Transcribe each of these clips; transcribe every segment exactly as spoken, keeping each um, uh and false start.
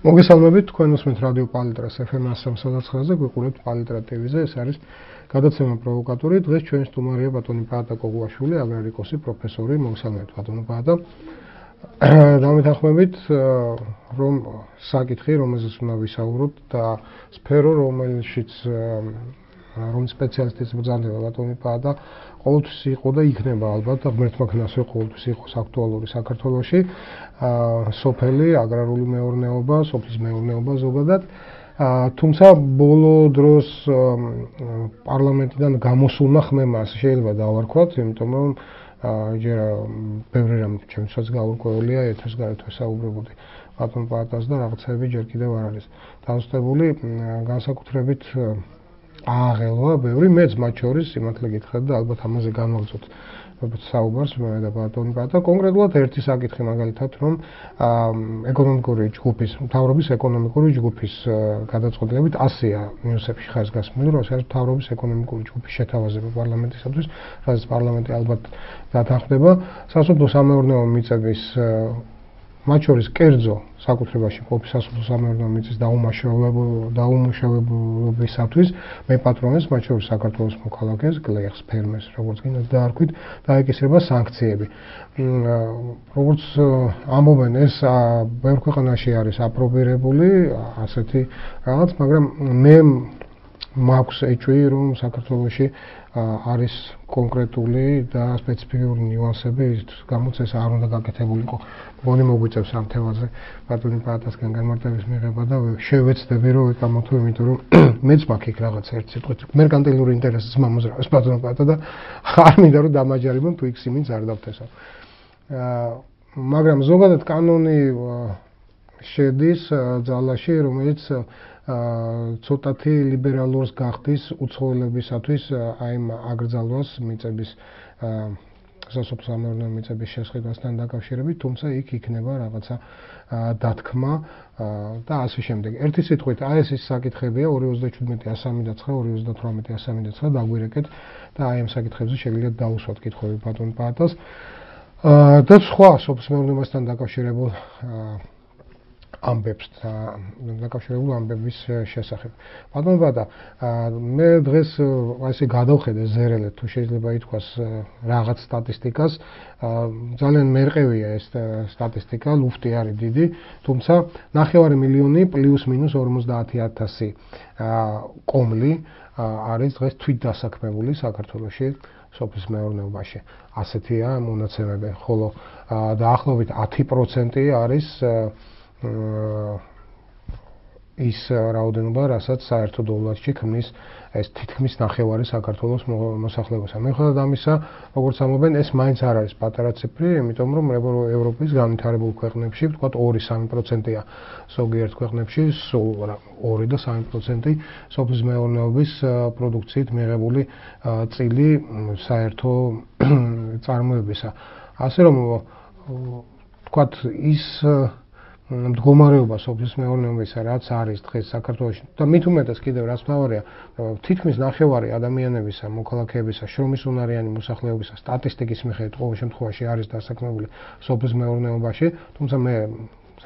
მოგესალმებით, თქვენ უსმენთ რადიო პალიტრას ეფ ემ one oh nine-ზე, გვიყურებთ პალიტრა ტივიზე, ეს არის გადაცემა პროვოკატორი. დღეს ჩვენი სტუმარია ბატონი პაატა კოგუაშვილი, აგრარიკოსი, პროფესორი. მოგესალმებით ბატონო პაატა. დამეთანხმებით, რომ საკითხი, რომელზეც უნდა ვისაუბროთ და სფერო, რომელშიც რომ სპეციალისტის ბრძანდება ბატონი პაატა, ყოველთვის იყო და იქნება ალბათ ღმერთმა ქნასვე ყოველთვის იყოს აქტუალური საქართველოში. სოფელი, აგრარული მეურნეობა, სოფლის მეურნეობა ზოგადად. თუმცა ბოლო დროს პარლამენტიდან გამოსულმა ხმემა შეიძლება დავარქვათ, იმიტომ რომ ჯერ ბევრი რამ ჩემსაც გაურკვეველია, ეთერს გარეთ ვესაუბრებოდი ბატონ პაატას და რაღაცები ჯერ კიდევ არ არის დასწრებული, განსაკუთრებით აღელვა ბევრი, მეც მათ შორის სიმართლე გითხრათ და ალბათ ამაზე განვაგრძოთ საუბარს მე და ბატონი პაატა. კონკრეტულად ერთი საკითხი მაგალითად, რომ ეკონომიკური ჯგუფის, მთავრობის ეკონომიკური ჯგუფის გადაწყვეტილებით ასეა ნიუსებში ხაზგასმული, რომ ეს არის მთავრობის ეკონომიკური ჯგუფის შეთავაზება პარლამენტისათვის, სადაც პარლამენტი ალბათ დათანხმდება სასოფლო-სამეურნეო მიწების მათ შორის კერძო საკუთრებაში მყოფი სასოფლო-სამეურნეო მიწის დაუმუშავებლობისათვის მეპატრონეს, მათ შორის საქართველოს მოქალაქეს, გლეხს, ფერმერს, როგორც გინდათ დაარქვით, დაეკისრება სანქციები. როგორც ამბობენ, ეს ბევრ ქვეყანაში არის აპრობირებული ასეთი რაღაც, მაგრამ მე მაქვს ეჭვი, რომ საქართველოში არის კონკრეტული და სპეციფიკური ნიუანსები, გამოც ეს არ უნდა გაკეთებულიყო. მგონი მოგვიწევს ამ თემაზე ბატონი პაატასგან განმარტების მიღება და შევეცდები რომ ვიკამოთო, იმიტომ რომ მეც მაქვს იქ რაღაც ერთ სიტყვით მერკანტილური ინტერესის მომაზრაოს ბატონი პაატა და არ მინდა რომ დამაჯერებონ თუ იქ სიმინს არ დავთესო. მაგრამ ზოგადად კანონი შედის ძალაში, რომელიც ცოტათი ლიბერალურს გახდის უცხოელებისათვის აი ამ აკრძალვას მიწების სასოფლო-სამეურნეო მიწების შესყიდვასთან დაკავშირებით, თუმცა იქ იქნება რაღაცა დათქმა და ასე შემდეგ. ერთი სიტყვით, აი ეს ის საკითხებია ორი ოცდაშვიდი ასამი და ცხრა, ორი ოცდათვრამეტი ასამი და ცხრა დაგვირეკეთ და აი ამ საკითხებზე შეგიძლიათ დაუსვათ კითხვები ბატონ პაატას და სხვა სოფლის მეურნეობასთან დაკავშირებულ ამბებს და დაკავშირებულ ამბების შესახებ. ბატონ პაატა, მე დღეს ასე გადავხედე ზერელეთ, თუ შეიძლება ითქვას რაღაც სტატისტიკას, ძალიან მერყევია ეს სტატისტიკა, ლუფტი არის დიდი, თუმცა ნახევარი მილიონი პლუს მინუს ორმოცდაათი ათასი კომლი არის დღეს თვითდასაქმებული საქართველოში სოფლის მეურნეობაში. ასეთია მონაცემები, ხოლო დაახლოებით ათი პროცენტი არის ის რაოდენობა, რასაც საერთო დოლარში ქმნის ეს თითქმის ნახევარი საქართველოს მოსახლეობისა. მიუხედავად ამისა, როგორც ამბობენ, ეს მაინც არ არის პატარა ციფრი, იმიტომ რომ ევროპის განვითარებულ ქვეყნებში, ვთქვათ, ორი სამი პროცენტია ზოგიერთ ქვეყნებში, სულ ორი და სამი პროცენტი სოფლის მეურნეობის პროდუქციით მიღებული წილი საერთო წარმოებისა. ასე რომ ვთქვათ, ის მდგომარეობა სოფლის მეურნეობისა, რაც არის დღეს საქართველოში და მით უმეტეს კიდევ რაც მთავარია, თითქმის ნახევარი ადამიანებისა, მოქალაქეებისა, შრომის უნარიანი მოსახლეობისა სტატისტიკის მიხედვით ყოველ შემთხვევაში არის დასაქმებული სოფლის მეურნეობაში, თუმცა მე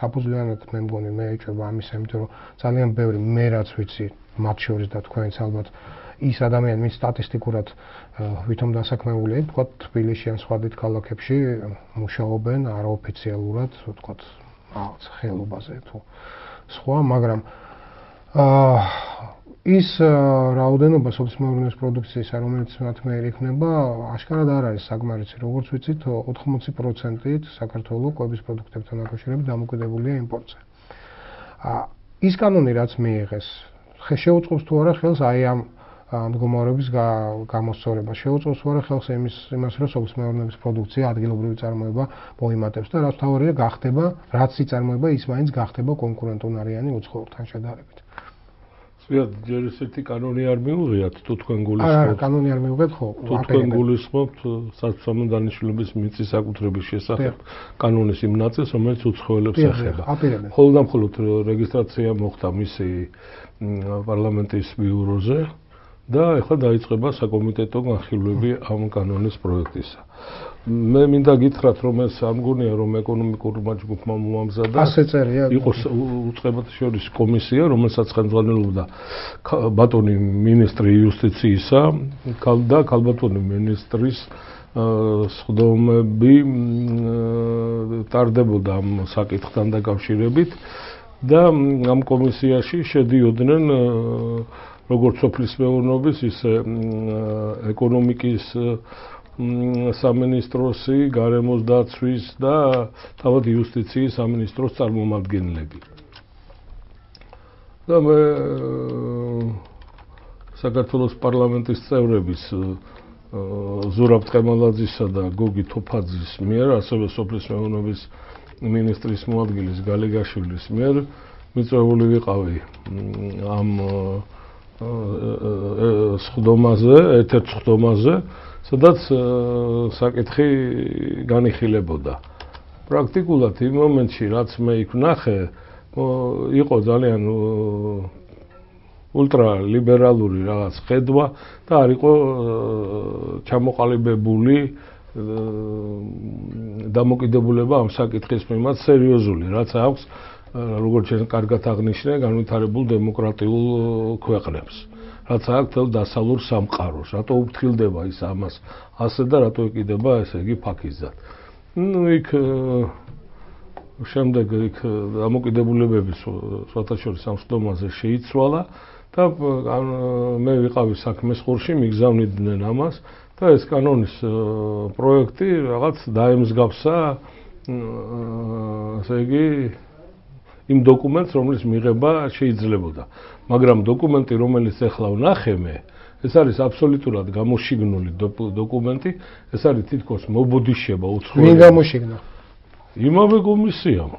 საფუძვლიანად მე მგონი მე ეჭვება ამისა, იმიტომ რომ ძალიან ბევრი მე რაც ვიცი, მათ შორის და თქვენც ალბათ ის ადამიანები სტატისტიკურად ვითომ დასაქმებულია, ვთქვათ, თბილისში ან სხვა დიდ ქალაქებში მუშაობენ არაოფიციალურად, ვთქვათ, რაღაც ხელობაზე თუ სხვა, მაგრამ ის რაოდენობა სოფლის მეურნეობის პროდუქციისა, რომელიც მათ მიერ იქნება, აშკარად არ არის საკმარისი. როგორც ვიცით, ოთხმოცი პროცენტით საქართველოს კვების პროდუქტებთან დაკავშირებით დამოკიდებულია იმპორტზე. ის კანონი, რაც მიიღეს, შეუწყობს თუ არა ხელს აი ამ მდგომარეობის გამოსწორებას, შეუწყობს თუ არა ხელს იმას, რომ სოფლის მეურნეობის პროდუქცია ადგილობრივი წარმოება მოიმატებს და რაც მთავარია გახდება, რაც იწარმოება, ის მაინც გახდება კონკურენტუნარიანი უცხოურთან შედარებით. ზოგადად ჯერ ესეთი კანონი არ მიუღიათ, თუ თქვენ გულისხმობთ. არა, კანონი არ მიუღეთ, ხო. თუ თქვენ გულისხმობთ სასოფლო დანიშნულების მიწის საკუთრების შესახებ კანონის იმ ნაწილს, რომელიც უცხოელებს ეხება. მხოლოდ და მხოლოდ რეგისტრაცია მოხდა მისი პარლამენტის ბიუროზე. და ეხლა დაიწყება საკომიტეტო განხილვები ამ კანონის პროექტისა. მე მინდა გითხრათ, რომ ეს არ მგონია, რომ ეკონომიკურმა ჯგუფმა მოამზადა. ასე წერია. იყო უწყებათა შორის კომისია, რომელსაც ხელმძღვანელობდა ბატონი მინისტრი იუსტიციისა და ქალბატონი მინისტრის სხდომები ტარდებოდა ამ საკითხთან დაკავშირებით და ამ კომისიაში შედიოდნენ როგორც სოფლის მეურნეობის, ისე ეკონომიკის სამინისტროსი, გარემოს დაცვის და თავად იუსტიციის სამინისტროს წარმომადგენლები. და მე საქართველოს პარლამენტის წევრების ზურაბ ტყემალაძისა და გოგი თოფაძის მიერ, ასევე სოფლის მეურნეობის მინისტრის მოადგილის გალეგაშვილის მიერ მიწვეული ვიყავი ამ სხდომაზე, ერთ-ერთ სხდომაზე, სადაც საკითხი განიხილებოდა. პრაქტიკულად იმ მომენტში, რაც მე იქ ვნახე, იყო ძალიან ულტრალიბერალური რაღაც ხედვა და არ იყო ჩამოყალიბებული დამოკიდებულება ამ საკითხის მიმართ სერიოზული, რაც აქვს როგორც ჩვენ კარგად აღნიშნე, განვითარებულ დემოკრატიულ ქვეყნებს. რაც აქვს თელ დასავლურ სამყაროს, რატო უფრთხილდება ის ამას ასე და რატო ეკიდება ესე იგი ფაქიზად. ნუ იქ შემდეგ იქ დამოკიდებულებების სხვათაშორის ამ სხდომაზე შეიცვალა და მე ვიყავი საქმეს ხურში, მიგზავნიდნენ ამას და ეს კანონის პროექტი რაღაც დაემსგავსა ასე იგი იმ დოკუმენტს, რომლის მიღება შეიძლებოდა. მაგრამ დოკუმენტი, რომელიც ახლა ვნახე მე, ეს არის აბსოლუტურად გამოშიგნული დოკუმენტი, ეს არის თითქოს მობოდიშება უცხოელი. ვინ გამოშიგნა? იმავე კომისიამ.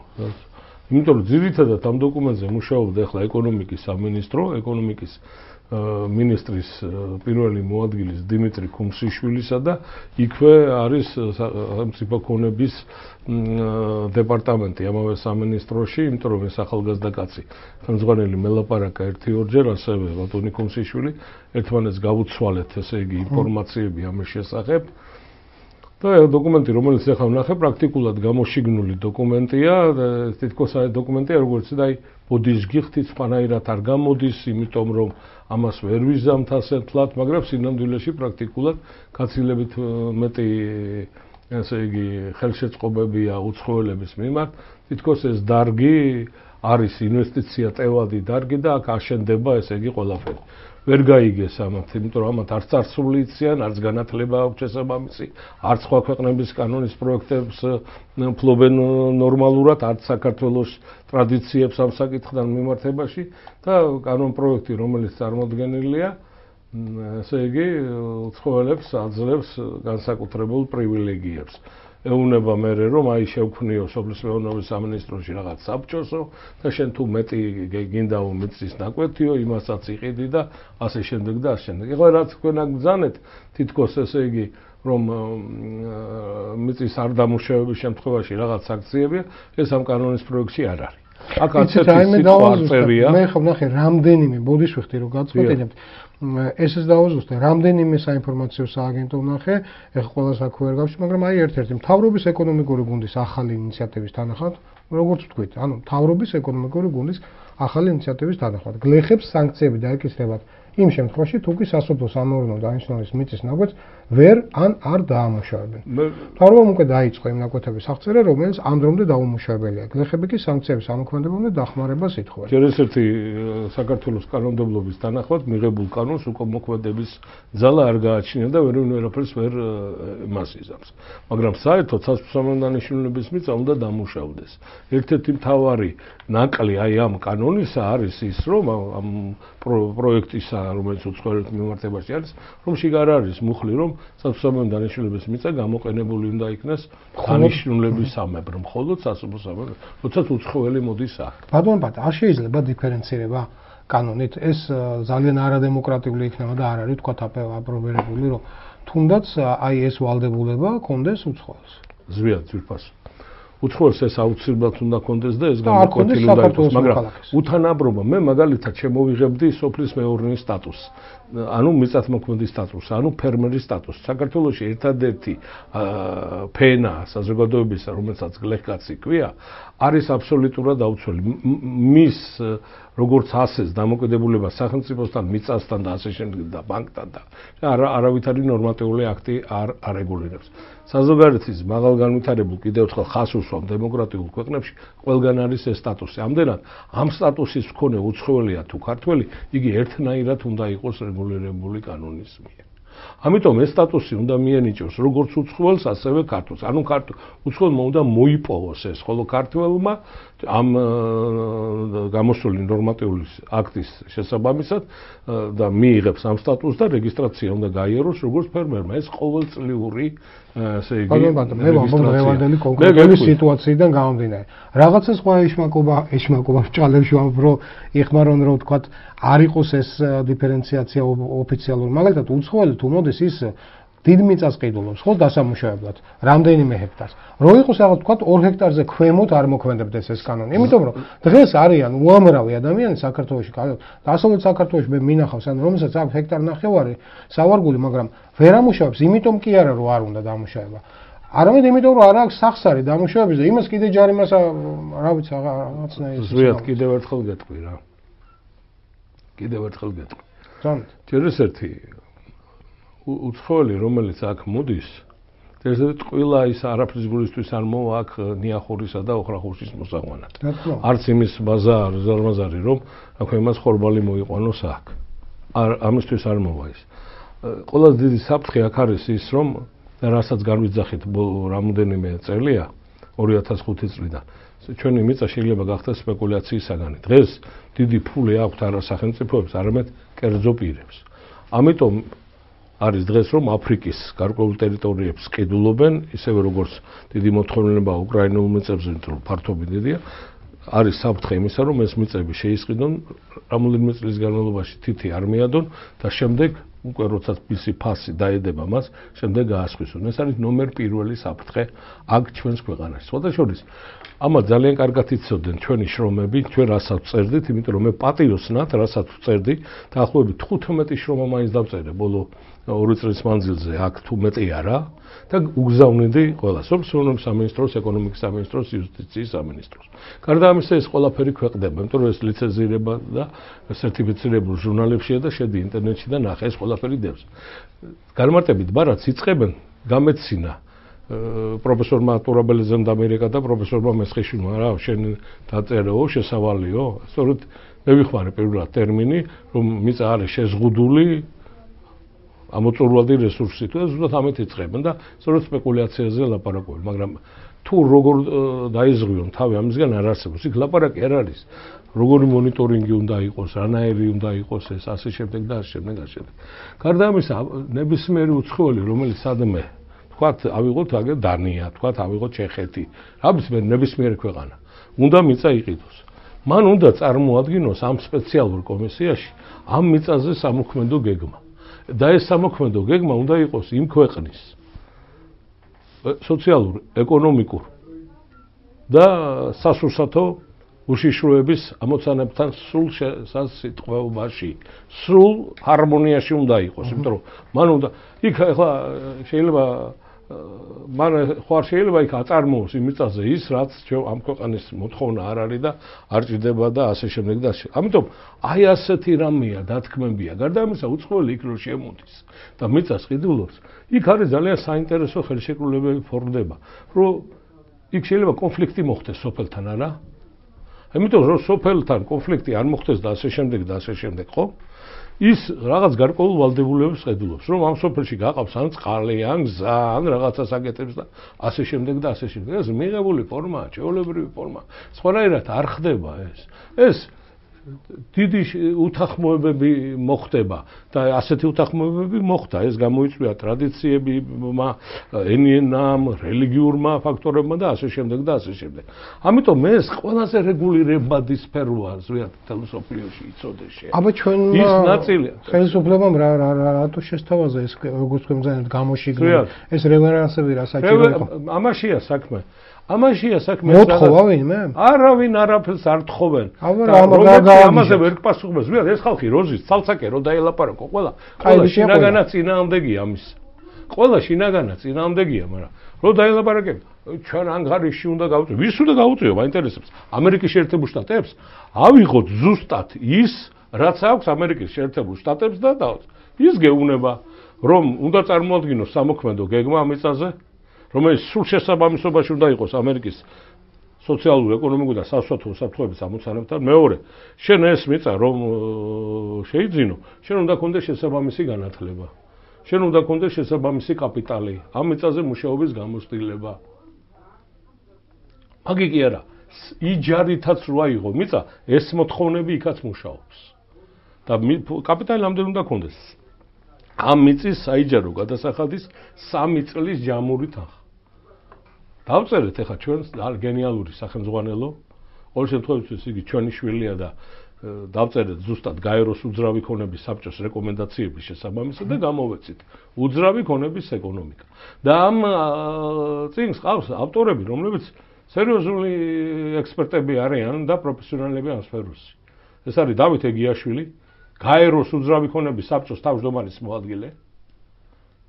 იმიტომ რომ ძირითადად ამ დოკუმენტზე მუშაობდა ახლა ეკონომიკის სამინისტრო, ეკონომიკის მინისტრის პირველი მოადგილის დიმიტრი ქუმსიშვილისა და იქვე არის სახელმწიფო ქონების დეპარტამენტი ამავე სამინისტროში, იმიტომ რომ ეს ახალგაზრდა კაცი ხელმძღვანელი მელაპარაკა ერთი-ორჯერ, ასევე ბატონი ქუმსიშვილი ერთმანეთს გავუცვალეთ, ესე იგი ინფორმაციები ამის შესახებ. და დოკუმენტი, რომელიც ახლა ვნახე, პრაქტიკულად გამოშიგნული დოკუმენტია, თითქოს აი დოკუმენტია, როგორც და აი ბოდის გიხდით, სხვანაირად არ გამოდის, იმიტომ რომ ამას ვერ ვიზამთ ასე თლათ, მაგრამ სინამდვილეში პრაქტიკულად გაცილებით მეტი ესე იგი ხელშეწყობებია უცხოელების მიმართ, თითქოს ეს დარგი არის ინვესტიცია ტევადი დარგი და აქ აშენდება ესე იგი ყველაფერი. ვერ გაიგეს ამათ, იმიტომ რომ ამათ არც წარსული იციან, არც განათლება აქვს შესაბამისი, არც სხვა ქვეყნების კანონის პროექტებს ფლობენ ნორმალურად, არც საქართველოს ტრადიციებს ამ საკითხთან მიმართებაში და კანონ პროექტი, რომელიც წარმოდგენილია, ესე იგი, უცხოელებს აძლევს განსაკუთრებულ პრივილეგიებს. ეუნება მერე რომ აი შევქმნიო სოფლის მეურნეობის სამინისტროში რაღაც საბჭოსო და შენ თუ მეტი გინდა უმიწის ნაკვეთიო, იმასაც იყიდი და ასე შემდეგ და ასე შემდეგ. ეხლა რაც თქვენ აგბრძანეთ, თითქოს ესე იგი რომ მიწის არ დამუშავების შემთხვევაში რაღაც აქციებია, ეს ამ კანონის პროექტში არ არის. აქ ასეთი სიტყვარწერია. მე ხო ნახე რამდენიმე ბოდიშ ვიხდი რომ გაწყვეტინებთ. ესეც დავაზუსტე, რამდენიმე საინფორმაციო სააგენტო ვნახე, ეხლა ყველას აქ ვერ გავში, მაგრამ აი ერთ-ერთი მთავრობის ეკონომიკური გუნდის ახალი ინიციატივის თანახმად, როგორც ვთქვით, ანუ მთავრობის ეკონომიკური გუნდის ახალი ინიციატივის თანახმად, გლეხებს სანქციები დაეკისრებათ იმ შემთხვევაში, თუ კი სასოფლო სამეურნეო დანიშნულის მიწის ნაკვეთს ვერ ან არ დაამუშავებენ. მთავრობამ უკვე დაიწყო იმ ნაკვეთების აღწერა, რომელიც ამ დრომდე დაუმუშავებელია. გლეხები კი სანქციების ამოქმედებამდე დახმარებას ითხოვენ. ჯერ ერთი საქართველოს კანონმდებლობის თანახმად მიღებულ კანონს უკვე მოქმედების ძალა არ გააჩნია და ვერვინ ვერაფერს ვერ მას იზამს. მაგრამ საერთოდ სასოფლო სამეურნეო დანიშნულების მიწა უნდა დამუშავდეს. ერთ-ერთი მთავარი ნაკლი აი ამ კანონისა არის ის, რომ ამ პროექტისა, რომელიც უცხოელების მიმართებაში არის, რომ შიგარ არის მუხლი, რომ სასოფლო სამეურნეო დანიშნულების მიწა გამოყენებული უნდა იქნას დანიშნულებისამებრ, მხოლოდ სასოფლო სამეურნეო, როდესაც უცხოელი მოდის აქ. ბატონო ბატ, არ შეიძლება დიფერენცირება კანონით, ეს ძალიან არადემოკრატიული იქნება და არ არის თქვა აპრობირებული, რომ თუნდაც აი ეს ვალდებულება კონდეს უცხოელს. ზვიად ძვირფას. უცხოელს ეს აუცილებლად უნდა კონდეს და ეს გამოკვეთილი უნდა იყოს, მაგრამ უთანაბრობა მე მაგალითად შემოვიღებდი სოფლის მეურნეობის სტატუსს ანუ მიწათმოქმედის სტატუსი, ანუ ფერმერის სტატუსი. საქართველოში ერთადერთი ფენა საზოგადოებისა, რომელსაც გლეხკაცი ქვია, არის აბსოლუტურად აუცილებელი. მის როგორც ასეს დამოკიდებულება სახელმწიფოსთან, მიწასთან და ასე შემდეგ და ბანკთან და არავითარი ნორმატიული აქტი არ არეგულირებს. საზოგადოების მაღალ განვითარებულ კიდევ ერთხელ ხას უსვამ დემოკრატიულ ქვეყნებში ყველგან არის ეს სტატუსი. ამდენად ამ სტატუსის მქონე უცხოელია თუ ქართველი, იგი ერთნაირად უნდა იყოს რეგულირებული კანონის მიერ. ამიტომ ეს სტატუსი უნდა მიენიჭოს როგორც უცხოელს, ასევე ქართველს. ანუ უცხოელმა უნდა მოიპოვოს ეს, ხოლო ქართველმა ამ გამოსული ნორმატიული აქტის შესაბამისად და მიიღებს ამ სტატუსს და რეგისტრაცია უნდა გაიაროს როგორც ფერმერმა. ეს ყოველწლიური ესე იგი მე ვამბობ დღევანდელი კონკრეტული სიტუაციიდან გამომდინარე. რაღაცა სხვა ეშმაკობა, ეშმაკობა ჭალებში ვამბობ, რომ იხმარონ რომ თქვა არ იყოს ეს დიფერენციაცია ოფიციალური. მაგალითად, უცხოელი თუ მოდის ის დიდ მიწას ყიდულობს, ხო, დასამუშავებლად, რამდენიმე ჰექტარს. რო იყოს რაღაც თქვა ორ ჰექტარზე ქვემოთ არ მოქმედებდეს ეს კანონი. იმიტომ რომ დღეს არიან უამრავი ადამიანი საქართველოში, დასავლეთ საქართველოში მე მინახავს, ან რომელსაც აქვს ჰექტარ ნახევარი სავარგული, მაგრამ ვერ ამუშავებს, იმიტომ კი არა რომ არ უნდა დამუშავება. არამედ იმიტომ რომ არ აქვს სახსარი დამუშავების და იმას კიდე ჯარიმას რა ვიცი რაღაცნაირი. ზვიად კიდევ ერთხელ გეტყვი რა. კიდევ ერთხელ გეტყვი. ძანთ. ჯერ ერთი უცხოელი რომელიც აქ მოდის, ერთ-ერთი ყველა ის არაფრის გულისთვის არ მოვა აქ ნიახურისა და ოხრახურშის მოსაყვანად. არც იმის ბაზა არ ზარმაზარი რომ აქ იმას ხორბალი მოიყვანოს აქ. არ ამისთვის არ მოვა ის. ყველაზე დიდი საფრთხე აქ არის ის რომ რასაც განვიძახით რამოდენიმე წელია ორი ათას ხუთი წლიდან ჩვენი მიწა შეიძლება გახდეს სპეკულაციის საგანი. დღეს დიდი ფული აქვთ არა სახელმწიფოებს, არამედ კერძო პირებს. ამიტომ არის დღეს რომ აფრიკის გარკვეულ ტერიტორიებს ყიდულობენ, ისევე როგორც დიდი მოთხოვნილება უკრაინულ მიწებზე, რომ ფართობი დიდია, არის საფრთხე იმისა, რომ ეს მიწები შეისყიდონ, რამდენიმე წლის განმავლობაში თითი არ მიადონ და შემდეგ უკვე როდესაც მისი ფასი დაედება მას, შემდეგ გაასხვისონ. ეს არის ნომერ პირველი საფრთხე აქ ჩვენს ქვეყანაში. სხვადასხვა ამას ძალიან კარგად იცოდნენ ჩვენი შრომები, ჩვენ რასაც წერდით, იმიტომ რომ მე პატიოსნად რასაც წერდი, დაახლოებით თხუთმეტი შრომა მაინც დავწერე ბოლო ორი წლის მანძილზე, აქ თუ მეტი არა და უგზავნიდი ყველას, სოფლის სამინისტროს, ეკონომიკის სამინისტროს, იუსტიციის სამინისტროს. გარდა ამისა, ეს ყველაფერი ქვეყნდება, იმიტომ რომ ეს ლიცენზირება და სერტიფიცირებულ ჟურნალებშია და შედი ინტერნეტში და ნახე ეს ყველაფერი დევს. განმარტებით ბარათს იწყებენ გამეცინა პროფესორმა ტურაბელიძემ და ამერიკა და პროფესორმა მესხიშვილმა რა შენ დაწერეო შესავალიო სწორედ მე ვიხმარე პირველად ტერმინი რომ მიწა არის შეზღუდული ამოწურვადი რესურსი თუ ზუსტად ამით იწყებენ და სწორედ სპეკულაციაზე ლაპარაკობენ მაგრამ თუ როგორ დაიზღვიონ თავი ამისგან არ არსებობს იქ ლაპარაკი არ არის როგორი მონიტორინგი უნდა იყოს რანაირი უნდა იყოს ეს ასე შემდეგ და ასე შემდეგ ასე შემდეგ გარდა ამისა ნებისმიერი უცხოელი რომელიც სადმე თქვათ ავიღოთ აგერ დანია, თქვათ ავიღოთ ჩეხეთი. რაბისმიერ ნებისმიერი ქვეყანა. უნდა მიწა იყიდოს. მან უნდა წარმოადგინოს ამ სპეციალურ კომისიაში ამ მიწაზე სამოქმედო გეგმა. და ეს სამოქმედო გეგმა უნდა იყოს იმ ქვეყნის სოციალურ, ეკონომიკურ და სასურსათო უშიშროების ამოცანებთან სრულ სასიტყვეობაში, სრულ ჰარმონიაში უნდა იყოს, იმიტომ რომ მან უნდა იქ ახლა შეიძლება მან ხო არ შეიძლება იქ აწარმოოს იმ მიწაზე ის რაც ამ ქვეყნის მოთხოვნა არ არის და არ ჭირდება და ასე შემდეგ და ასე. ამიტომ აი ასეთი რამეა დათქმებია. გარდა ამისა უცხოელი იქ რო შემოდის და მიწას ყიდულობს, იქ არის ძალიან საინტერესო ხელშეკრულებები ფორმდება, რომ იქ შეიძლება კონფლიქტი მოხდეს სოფელთან, არა? ამიტომ რომ სოფელთან კონფლიქტი არ მოხდეს და ასე შემდეგ და ასე შემდეგ, ხო? ის რაღაც გარკვეულ ვალდებულებას ყიდულობს, რომ ამ სოფელში გაყავს ან წყალი, ან გზა, ან რაღაცას აკეთებს და ასე შემდეგ და ასე შემდეგ. ეს მიღებული ფორმაა, ჩვეულებრივი ფორმა. სხვანაირად არ ხდება ეს. ეს დიდი უთანხმოებები მოხდება და ასეთი უთანხმოებები მოხდა. ეს გამოიწვია ტრადიციებმა, ენამ, რელიგიურმა ფაქტორებმა და ასე შემდეგ და ასე შემდეგ. ამიტომ ეს ყველაზე რეგულირებადი სფეროა ზოგადად ფილოსოფიაში იცოდეს შე. აბა ჩვენ ის ნაწილია. ხელისუფლებამ რა რა რატო შესთავაზა ეს როგორც თქვენ ძალიან გამოშიგნე ეს რევერანსები რა საჭირო იყო? ამაშია საქმე. ამაშია საქმე. მოთხოვა ვინმე? არავინ არაფერს არ თხოვენ. ამაზე ვერ გპასუხებს. ვიღაც ეს ხალხი როზის ცალცაკე რო დაელაპარაკო, ყველა ყველა შინაგანა წინააღმდეგია ამის. ყველა შინაგანა წინააღმდეგია, მაგრამ რო დაელაპარაკებ, ჩვენ ანგარიში უნდა გავუწიო. ვის უნდა გავუწიო? მაინტერესებს. ამერიკის შეერთებულ შტატებს ავიღოთ ზუსტად ის, რაც აქვს ამერიკის შეერთებულ შტატებს და დავთ. ის გეუბნება, რომ უნდა წარმოადგინოს სამოქმედო გეგმა ამ მიწაზე, რომელიც სულ შესაბამისობაში უნდა იყოს ამერიკის სოციალურ, ეკონომიკურ და სასოფლო საფრთხეების ამოცანებთან. მეორე, შენ ეს მიწა რომ შეიძინო, შენ უნდა გქონდეს შესაბამისი განათლება. შენ უნდა გქონდეს შესაბამისი კაპიტალი, ამ მიწაზე მუშაობის გამოცდილება. მაგი კი არა, იჯარითაც რო აიღო მიწა, ეს მოთხოვნები იქაც მუშაობს. და კაპიტალი ამდენ უნდა გქონდეს. ამ მიწის საიჯარო გადასახადის სამი წლის ჯამური თანხა. დავწერეთ ახლა ჩვენ გენიალური სახელმძღვანელო, ყოველ შემთხვევაში იგი ჩვენი შვილია და დავწერეთ ზუსტად გაეროს უძრავი ქონების საბჭოს რეკომენდაციების შესაბამისად და გამოვეცით უძრავი ქონების ეკონომიკა. და ამ წიგნს ყავს ავტორები, რომლებიც სერიოზული ექსპერტები არიან და პროფესიონალები ამ სფეროში. ეს არის დავით ეგიაშვილი, გაეროს უძრავი ქონების საბჭოს თავმჯდომარის მოადგილე.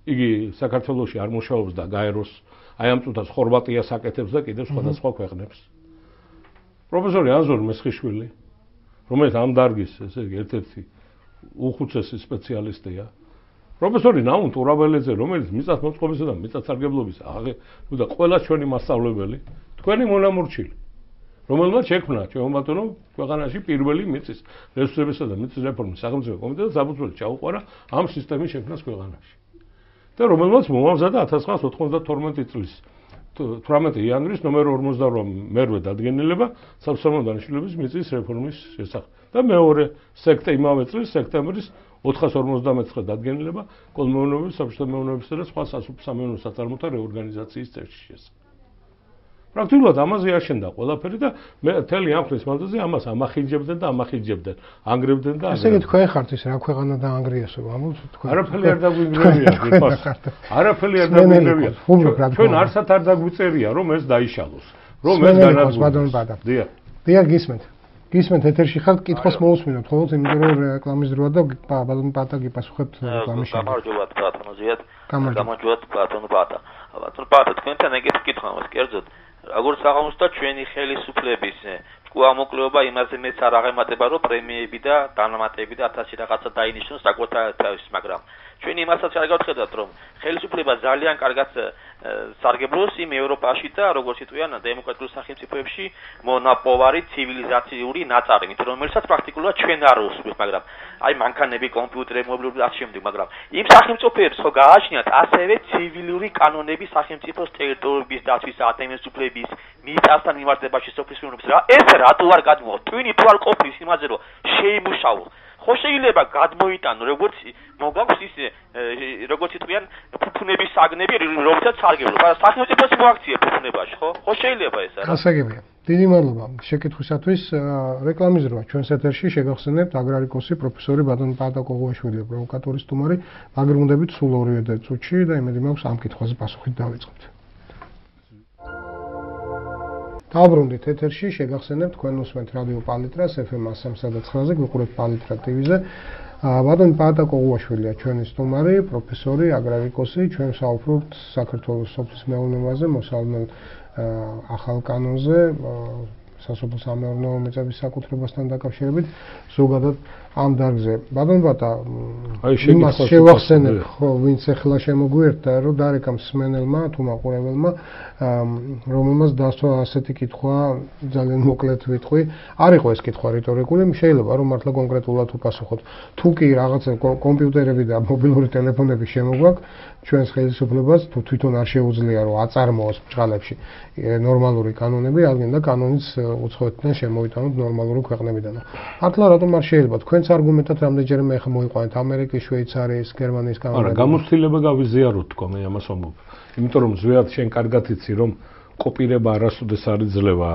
იგი საქართველოში არ მუშაობს და გაეროს აი ამ წუთას ხორვატიას აკეთებს და კიდევ სხვადასხვა ქვეყნებს. პროფესორი ანზორ მესხიშვილი, რომელიც ამ დარგის ესე იგი ერთ-ერთი უხუცესი სპეციალისტია. პროფესორი ნაუნ ტურაბელეძე, რომელიც მიწათმოწყობისა და მიწათსარგებლობის ნუ და ყველა ჩვენი მასწავლებელი, თქვენი მონამორჩილი, რომელმაც შექმნა ჩვენ ბატონო ქვეყანაში პირველი მიწის რესურსებისა და მიწის რეფორმის სახელმწიფო კომიტეტი საფუძველი ჩაუყარა ამ სისტემის შექმნას ქვეყანაში. და რომელმაც მოამზადა ათას ცხრაასი ოთხმოცდათორმეტი წლის თვრამეტი იანვრის ნომერ ორმოცდაოთხ მერვე დადგენილება საბრძოლო დანიშნულების მიწის რეფორმის შესახებ. და მეორე სექტე იმავე წლის სექტემბრის ოთხას ორმოცდამეცხრე დადგენილება კოლმეურნეობის, საბჭოთა მეურნეობისა და სხვა სასოფლო-სამეურნეო საწარმოთა რეორგანიზაციის წესის შესახებ. პრაქტიკულად ამაზე აშენდა ყველაფერი და მე მთელი ამ ხნის მანძილზე ამას ამახინჯებდნენ და ამახინჯებდნენ, ანგრევდნენ და ასე იგი თქვენ ხართ ის რა ქვეყანა და ანგრიასო, ამოთ თქვენ. არაფერი არ დაგვიგრევია, გიფას. არაფერი არ დაგვიგრევია. ჩვენ არსად არ დაგვიწერია, რომ ეს დაიშალოს, რომ ეს განადგურდეს. დიახ. დიახ, გისმენთ. გისმენთ ეთერში ხართ, კითხოს მოусმინოთ, ხოლმე იმიტომ რომ რეკლამის დროა და ბატონ პატა გიპასუხებთ რეკლამის შემდეგ. გამარჯობათ ბატონო ზიად. გამარჯობათ ბატონო პატა. ბატონო პატა, თქვენთან ეგეთი კითხვა მაქვს, კერძოდ როგორც აღმოჩნდა ჩვენი ხელისუფლების ჭკუამოკლეობა იმაზე მეც არ აღემატება რომ პრემიები და დანამატები და ათასი რაღაცა დაინიშნოს საკუთარ მაგრამ ჩვენ იმასაც არ გავხედავთ რომ ხელისუფლება ძალიან კარგად სარგებლობს იმ ევროპაში და როგორც იტყვიან დემოკრატიულ სახელმწიფოებში მონაპოვარი ცივილიზაციური ნაწარმით რომელსაც პრაქტიკულად ჩვენ არ უსვით მაგრამ აი მანქანები კომპიუტერები მობილური და ამ შემდეგ მაგრამ იმ სახელმწიფოებს ხო გააჩნიათ ასევე ცივილური კანონები სახელმწიფოს ტერიტორიების დაცვის ადამიანის უფლების მიწასთან მიმართებაში სოფლის მეურნეობის რა ეს რატო არ გადმოვა twin თუ არ ყოფნის იმაზე რომ შეიმუშაო ხო შეიძლება გადმოიტანო როგორც მოგაქვს ის როგორც იტყვიან ფუფუნების საგნები რომელსაც სარგებლობ მაგრამ სახელმწიფოს მოაქციე ფუფუნებაში ხო ხო შეიძლება ეს არა გასაგებია დიდი მადლობა შეკითხვისათვის რეკლამის დროა ჩვენს ეთერში შეგახსენებთ აგრარიკოსი პროფესორი ბატონ პატა კოღუაშვილი პროვოკატორის სტუმარი მაგრუნდებით სულ ორივე წუთში და იმედი მაქვს ამ კითხვაზე პასუხით დავიწყებთ დაბრუნდით ეთერში შეგახსენებთ თქვენ უსმენთ რადიო პალიტრას ეფ ემ სამს და ცხრაზე გიყურებთ პალიტრა ტივიზე ბატონ პატა კოღუაშვილია ჩვენი სტუმარი პროფესორი აგრარიკოსი ჩვენ საუბრობთ საქართველოს სოფლის მეურნეობაზე მოსალმელ ახალ კანონზე სასოფლო-სამეურნეო მიწების საკუთრებასთან დაკავშირებით ზოგადად ამ დარგზე ბატონ პატა იმას შევახსენებ ხო ვინც ახლა შემოგვიერთდა რომ დარეკამ სმენელმა თუ მაყურებელმა რომელმაც დასვა ასეთი კითხვა ძალიან მოკლედ ვიტყვი არ იყო ეს კითხვა რიტორიკული შეიძლება რომ მართლა კონკრეტულად უპასუხოთ თუ კი რაღაცა კომპიუტერები და მობილური ტელეფონები შემოგვაქვს ჩვენს ხელისუფლებას თუ თვითონ არ შეუძლია რომ აწარმოოს ბჭყალებში ნორმალური კანონები რადგან და კანონის უცხოეთიდან შემოიტანოთ ნორმალური ქვეყნებიდან მართლა რატომ არ შეიძლება თქვენს არგუმენტად რამდენჯერმე ახლა მოიყვანეთ ამერიკის, შვეიცარიის, გერმანიის კანონები არა გამოცდილება გავიზიაროთ თქო მე ამას ვამბობ იმიტომ რომ ზვიად შენ კარგად იცი რომ კოპირება არასოდეს არ იძლევა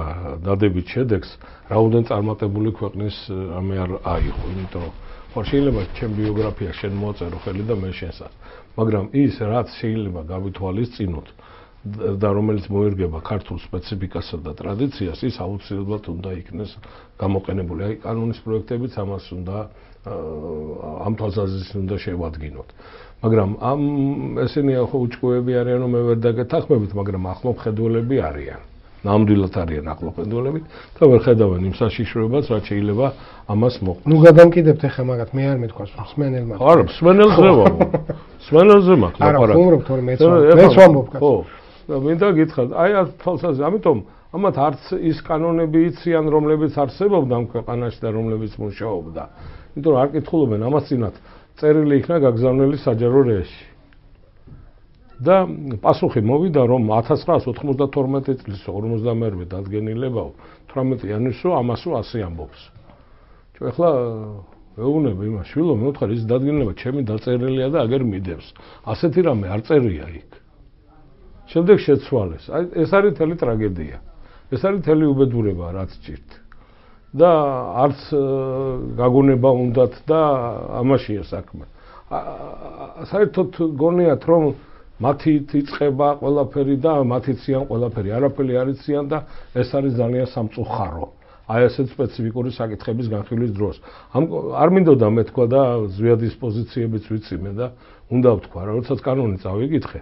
დადებით შედეგს რაოდენ წარმატებული ქვეყნის ამე არ აიღო იმიტომ რომ ხო შეიძლება ჩემ ბიოგრაფია შენ მოაწერო ხელი და მე შენსაც მაგრამ ის რაც შეიძლება გავითვალისწინოთ და რომელიც მოერგება ქართულ სპეციფიკასა და ტრადიციას, ის აუცილებლად უნდა იქნეს გამოყენებული. აი, კანონის პროექტებიც ამას უნდა ამ თვალსაზრისით უნდა შევადგინოთ. მაგრამ ამ ესენი ახო უჭკუები არიან, რომ მე ვერ დაგეთანხმებით, მაგრამ ახლომხედველები არიან. ნამდვილად არიან ახლომხედველები და ვერ ხედავენ იმ საშიშროებას, რაც შეიძლება ამას მოყვა. ნუ გადამკიდებთ ახლა მაგათ, მე არ მეთქვას, მსმენელმა. არა, მსმენელზე ვარ. მსმენელზე მაქვს ლაპარაკი. არა, ხუმრობთ თორე მეც მეც ვამბობ კაცო. ხო. მინდა გითხრათ, აი ამ თვალსაზრისით, ამიტომ ამათ არც ის კანონები იციან, რომლებიც არსებობდა ამ ქვეყანაში და რომლებიც მუშაობდა. იმიტომ რომ არ კითხულობენ ამას წინათ წერილი იქნა გაგზავნილი საჯარო რეესში. და პასუხი მოვიდა, რომ ათას ცხრაას ოთხმოცდათორმეტი წლის ორმოცდამეერთე დადგენილებაო თვრამეტი იანვარსო ამასო ასე ამბობს. ჩვენ ახლა ვეუბნები იმას, შვილო, მე ვთქვი, ის დადგენილება ჩემი დაწერილია და აგერ მიდევს. ასეთი რამე არ წერია იქ. შემდეგ შეცვალეს. აი ეს არის თელი ტრაგედია. ეს არის თელი უბედურება, რაც ჭირთ. და არც გაგონება უნდათ და ამაშია საქმე. საერთოდ გონიათ, რომ მათი იწყება ყველაფერი და მათი ციან ყველაფერი, არაფერი არ იციან და ეს არის ძალიან სამწუხარო. აი ესეთ სპეციფიკური საკითხების განხილვის დროს. ამ არ მინდოდა მე თქვა და ზვიადის პოზიციებიც ვიცი მე და უნდა ვთქვა, როდესაც კანონი წავიკითხე.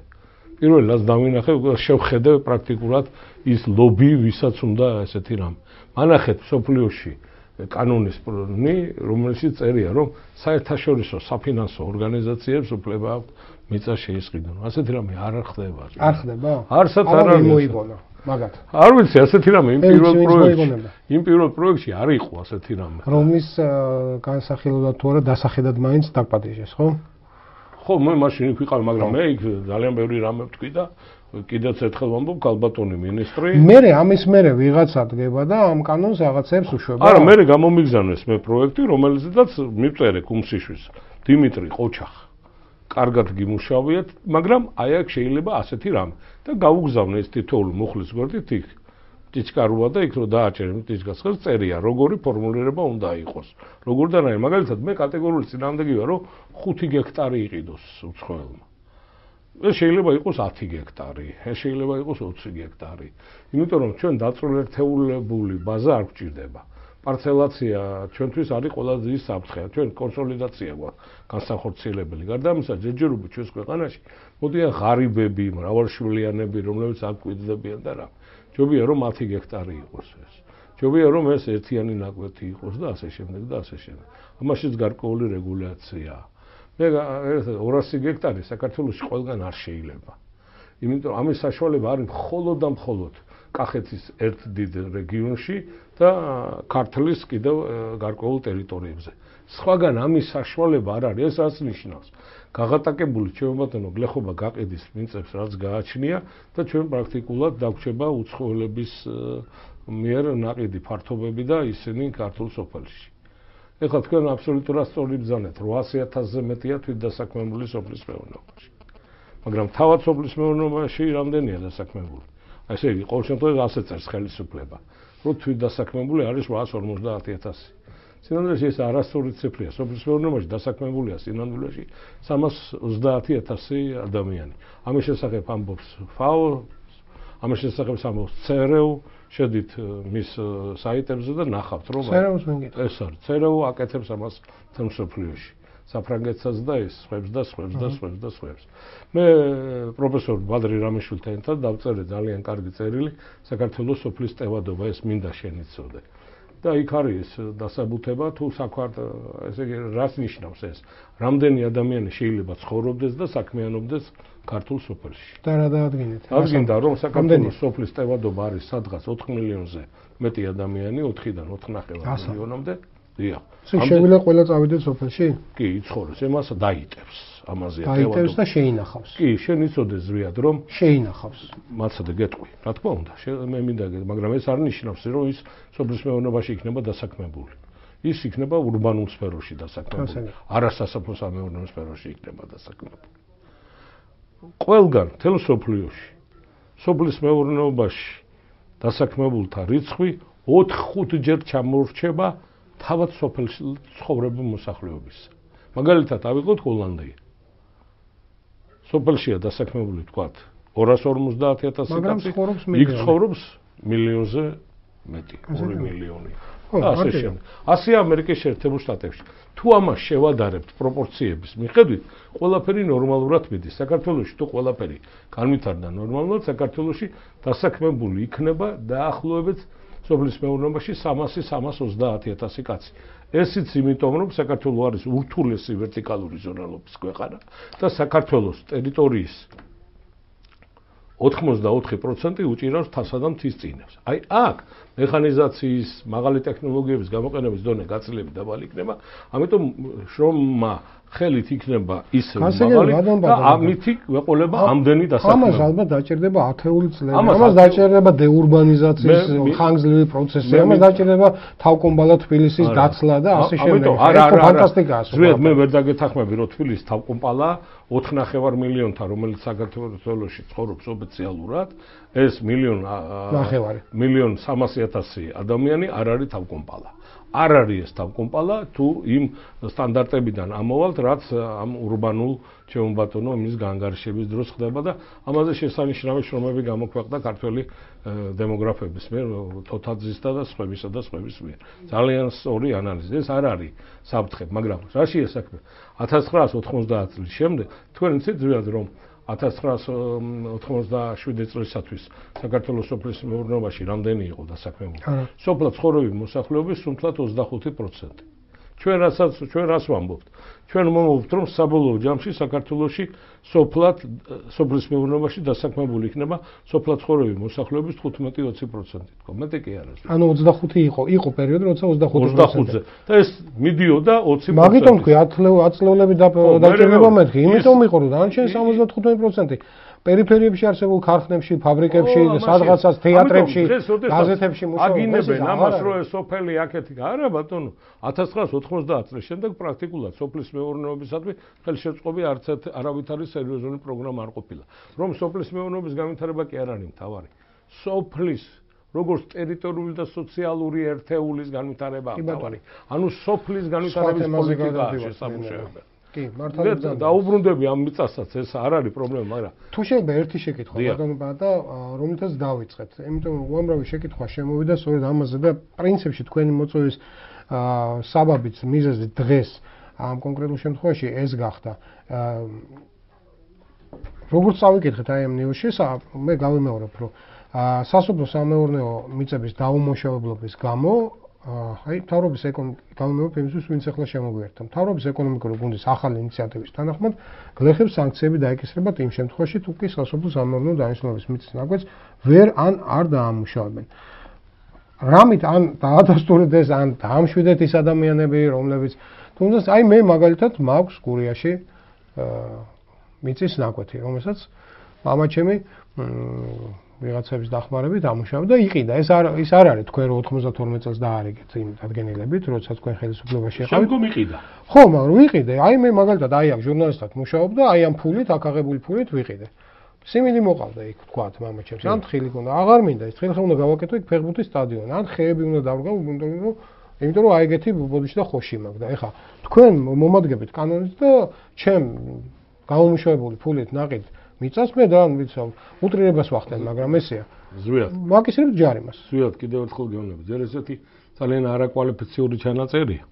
პირველ რიგს დავინახე, შევხედე პრაქტიკულად ის ლობი, ვისაც უნდა ესეთი რამე. მანახეთ სოფლიოში კანონის პრონი, რომელშიც წერია, რომ საერთაშორისო საფინანსო ორგანიზაციებს უფლება აქვთ მიწა შეისყიდონ. ასეთი რამე არ ხდება. არ ხდება? არსად არ არის. მოიგონა, მაგათ. არ ვიცი, ასეთი რამე იმ პირველ პროექტში. იმ პირველ პროექტში არ იყო ასეთი რამე. რომის განსახილებლად თუ არა დასახედად მაინც დაგპატიჟეს, ხო? ხო, მე მაშინ იქ ვიყავ, მაგრამ მე იქ ძალიან ბევრი რამე ვთქვი და კიდეც ერთხელ ვამბობ, ქალბატონი მინისტრი. მერე ამის მერე ვიღაცა დგება და ამ კანონს რაღაცებს უშვება. არა, მერე გამომიგზავნეს მე პროექტი, რომელზედაც მივწერე კუმსიშვილს, დიმიტრი ყოჩახ. კარგად გიმუშავიათ, მაგრამ აი აქ შეიძლება ასეთი რამე და გაუგზავნე ეს თითოეული მუხლის გვერდით იქ. ტიჩკარუა და იქ რო დააჭერე ტიჩკას ხელს წერია, როგორი ფორმულირება უნდა იყოს. როგორ და რა, მაგალითად მე კატეგორიული წინააღმდეგი ვარ, რომ ხუთი გექტარი იყიდოს უცხოელმა. ეს შეიძლება იყოს ათი გექტარი, ეს შეიძლება იყოს ოცი გექტარი. იმიტომ რომ ჩვენ დაწვრილებული ბაზა არ გვჭირდება. პარცელაცია ჩვენთვის არის ყველაზე დიდი საფრთხე. ჩვენ კონსოლიდაცია გვაქვს განსახორციელებელი. გარდა ამისა, ჯერჯერობით ჩვენს ქვეყანაში მოდიან ღარიბები, მრავალშვილიანები, რომლებიც არ გვკვიდდებიან და რა. ჯობია რომ ათი გექტარი იყოს ეს. ჯობია რომ ეს ერთიანი ნაკვეთი იყოს და ასე შემდეგ და ასე შემდეგ. ამაშიც გარკვეული რეგულაციაა. მე ორასი გექტარი საქართველოში ყველგან არ შეიძლება. იმიტომ რომ ამის საშუალება არის მხოლოდ და მხოლოდ კახეთის ერთ დიდ რეგიონში და ქართლის კიდევ გარკვეულ ტერიტორიებზე. სხვაგან ამის საშუალება არ არის, ეს რაც ნიშნავს. გაღატაკებული ჩემბატონო გლეხობა გაყიდის მიწებს, რაც გააჩნია და ჩვენ პრაქტიკულად დაგვრჩება უცხოელების მიერ ნაყიდი ფართობები და ისინი ქართულ სოფელში. ეხლა თქვენ აბსოლუტურად სწორი ბრძანეთ, რვაასი ათასზე მეტია თვითდასაქმებული სოფლის მეურნეობაში. მაგრამ თავად სოფლის მეურნეობაში რამდენია დასაქმებული? ესე იგი, ყოველ შემთხვევაში ასე წერს ხელისუფლება, რომ თვითდასაქმებული არის რვაას ორმოცდაათი ათასი. სინამდვილეში ეს არასწორი ციფრია. სოფლის მეურნეობაში დასაქმებულია სინამდვილეში სამას ოცდაათი ათასი ადამიანი. ამის შესახებ ამბობს ფაო, ამის შესახებ ამბობს ცერეუ, შედით მის საიტებზე და ნახავთ, რომ ცერეუს ვინგით. ეს არის ცერეუ აკეთებს ამას თემსოფლიოში. საფრანგეთსაც და ეს სხვებს და სხვებს და სხვებს და სხვებს. მე პროფესორ ბადრი რამიშვილთან ერთად დავწერე ძალიან კარგი წერილი საქართველოს სოფლის ტევადობა, ეს მინდა შენიცოდე. და იქ არის დასაბუთება თუ საქვარტ, ესე იგი, რას ნიშნავს ეს? რამდენი ადამიანი შეიძლება ცხოვრობდეს და საქმიანობდეს ქართულ სოფელში? და რა დაადგინეთ? აღგინდა რომ საქართველოს სოფლის ტევადობა არის სადღაც ოთხ მილიონზე მეტი ადამიანი, ოთხიდან ოთხ ნახევარ მილიონამდე. დიახ. შეიძლება ყველა წავიდეს სოფელში? კი, იცხოვროს, ემას დაიტევს. ამაზეა ტევადობა. დაიტევს და შეინახავს. კი, შენ იცოდეს ზვიად რომ შეინახავს. მაცადე გეტყვი, რა თქმა უნდა, მე მინდა გეტყვი, მაგრამ ეს არ ნიშნავს, რომ ის სოფლის მეურნეობაში იქნება დასაქმებული. ის იქნება ურბანულ სფეროში დასაქმებული. არა სასოფლო-სამეურნეო სფეროში იქნება დასაქმებული. ყველგან, მთელ სოფლიოში, სოფლის მეურნეობაში დასაქმებულთა რიცხვი ოთხ-ხუთჯერ ჩამორჩება თავად სოფელში ცხოვრებულ მოსახლეობის. მაგალითად, ავიღოთ ჰოლანდია. სოფელშია დასაქმებული, თქვათ, ორას ორმოცდაათი ათასი კაცი, იქ ცხოვრობს მილიონზე მეტი, ორი მილიონი. ასე შემდეგ. ასე ამერიკის შეერთებულ შტატებში. თუ ამას შევადარებთ პროპორციების მიხედვით, ყველაფერი ნორმალურად მიდის. საქართველოში თუ ყველაფერი განვითარდა ნორმალურად, საქართველოში დასაქმებული იქნება დაახლოებით სოფლის მეურნეობაში სამასი სამას ოცდაათი ათასი კაცი. ესიც იმიტომ, რომ საქართველო არის ურთულესი ვერტიკალური ზონალობის ქვეყანა და საქართველოს ტერიტორიის ოთხმოცდაოთხი პროცენტი უჭირავს თასა და მთის წინებს. აი აქ მექანიზაციის, მაღალი ტექნოლოგიების გამოყენების დონე გაცილებით დაბალი იქნება, ამიტომ შრომა ხელით იქნება ისე მაღალი და ამითი ვეყოლება ამდენი დასაქმება. ამას ალბათ დაჭირდება ათეული წლები. ამას დაჭირდება დეურბანიზაციის ხანგრძლივი პროცესი, ამას დაჭირდება თავკომბალა თბილისის დაცლა და ასე შემდეგ. ეს ფანტასტიკაა. ზუსტად მე ვერ დაგეთანხმები, რომ თბილისის თავკომბალა ოთხ ნახევარ მილიონთან, რომელიც საქართველოში ცხოვრობს ოფიციალურად, ეს მილიონ ნახევარი. მილიონ სამასი ათასი ადამიანი არ არის თავკომბალა. არ არის ეს თავკომპალა თუ იმ სტანდარტებიდან ამოვალთ, რაც ამ урბანულ ჩემო ბატონო იმის განგარიშების დროს ხდება და ამაზე შესანიშნავი შრომები გამოქვეყნდა ქართველი დემოგრაფების მიერ, თოთაძისა და სხვებისა და სხვების მიერ. ძალიან სწორი ანალიზი. ეს არ არის საფრთხე, მაგრამ რაშია საქმე? ათას ცხრაას ოთხმოცდაათ წლის შემდეგ თქვენ იცით ზუსტად რომ ათას ცხრაას ოთხმოცდაშვიდი წლისათვის საქართველოს სოფლის მეურნეობაში რამდენი იყო დასაქმებული? სოფლად ცხოვრობი მოსახლეობის სუნთლად ოცდახუთი პროცენტი. ჩვენ რასაც ჩვენ რას ვამბობთ? ჩვენ ვამბობთ, რომ საბოლოო ჯამში საქართველოში სოფლად სოფლის მეურნეობაში დასაქმებული იქნება სოფლად ცხოვრობი მოსახლეობის თხუთმეტი ოცი პროცენტი. თქო, მეტი კი არა. ანუ ოცდახუთი იყო, იყო პერიოდი, როცა ოცდახუთი პროცენტი. და ეს მიდიოდა ოცი პროცენტი. მაგიტომ თქვი ათწლეულები დაჭირდება მეთქი. იმიტომ იყო, რომ დანარჩენი სამოცდათხუთმეტი პროცენტი პერიფერიებში არსებულ ქარხნებში, ფაბრიკებში, სადღაცაც თეატრებში, გაზეთებში მუშაობენ. აგინებენ ამას, რომ ეს სოფელი აქეთი არა ბატონო. ათას ცხრაას ოთხმოცდაათ წლის შემდეგ პრაქტიკულად სოფლის მეურნეობისადმი ხელშეწყობი არც არავითარი სერიოზული პროგრამა არ ყოფილა. რომ სოფლის მეურნეობის განვითარება კი არ არის მთავარი. სოფლის როგორც ტერიტორიული და სოციალური ერთეულის განვითარება მთავარი. ანუ სოფლის განვითარების პოლიტიკაა შესამუშავებელი. კი, მართალია. დაუბრუნდები ამ მიწასაც, ეს არ არის პრობლემა, მაგრამ თუ შეიძლება ერთი შეკითხვა ბატონო და რომლითაც დავიწყეთ. იმიტომ რომ უამრავი შეკითხვა შემოვიდა სწორედ ამაზე და პრინციპში თქვენი მოწვევის საბაბიც, მიზეზი დღეს ამ კონკრეტულ შემთხვევაში ეს გახდა. როგორც წავიკითხეთ აი ამ ნიუსში, მე გავიმეორებ, რომ სასოფლო-სამეურნეო მიწების დაუმუშავებლობის გამო აი მთავრობის ეკონომიკურ იმისთვის ვინც ახლა შემოგვიერთდა. მთავრობის ეკონომიკური გუნდის ახალი ინიციატივის თანახმად გლეხებს სანქციები დაეკისრებათ იმ შემთხვევაში, თუ კი სასოფლო-სამეურნეო დანიშნულების მიწის ნაკვეთს ვერ ან არ დაამუშავებენ. რამით ან დაადასტურდეს ან დაამშვიდეთ ის ადამიანები, რომლებიც თუნდაც აი მე მაგალითად მაქვს გურიაში მიწის ნაკვეთი, რომელსაც მამაჩემი ვიღაცების დახმარებით ამუშავდა და იყიდა. ეს არ ის არ არის თქვენ რომ ოთხმოცდათორმეტ წელს დაარიგეთ იმ დადგენილებით, როცა თქვენ ხელისუფლებაში იყავით. შემდგომ იყიდა. ხო, მაგრამ ვიყიდე. აი მე მაგალითად აი აქ ჟურნალისტად მუშაობდა, აი ამ ფულით, აქ აღებული ფულით ვიყიდე. სიმინდი მოყავდა იქ თქვათ მამაჩემს. ან თხილი ქონდა, აღარ მინდა ის თხილი უნდა გავაკეთო იქ ფეხბურთის სტადიონი. ან ხეები უნდა დავრგავ, იმიტომ რომ იმიტომ რომ აი ეგეთი ბოდიში და ხოში მაქვს და ეხა თქვენ მომადგებით კანონით და ჩემ გამომუშავებული ფულით ნაყიდ მიწას მე და ვიცავ უტრირებას ვახდენ, მაგრამ ესეა. ზვიად. მაგისრებ ჯარიმას. ზვიად კიდევ ერთხელ გეუბნები. ძერ ესეთი ძალიან არაკვალიფიციური ჩანაწერია.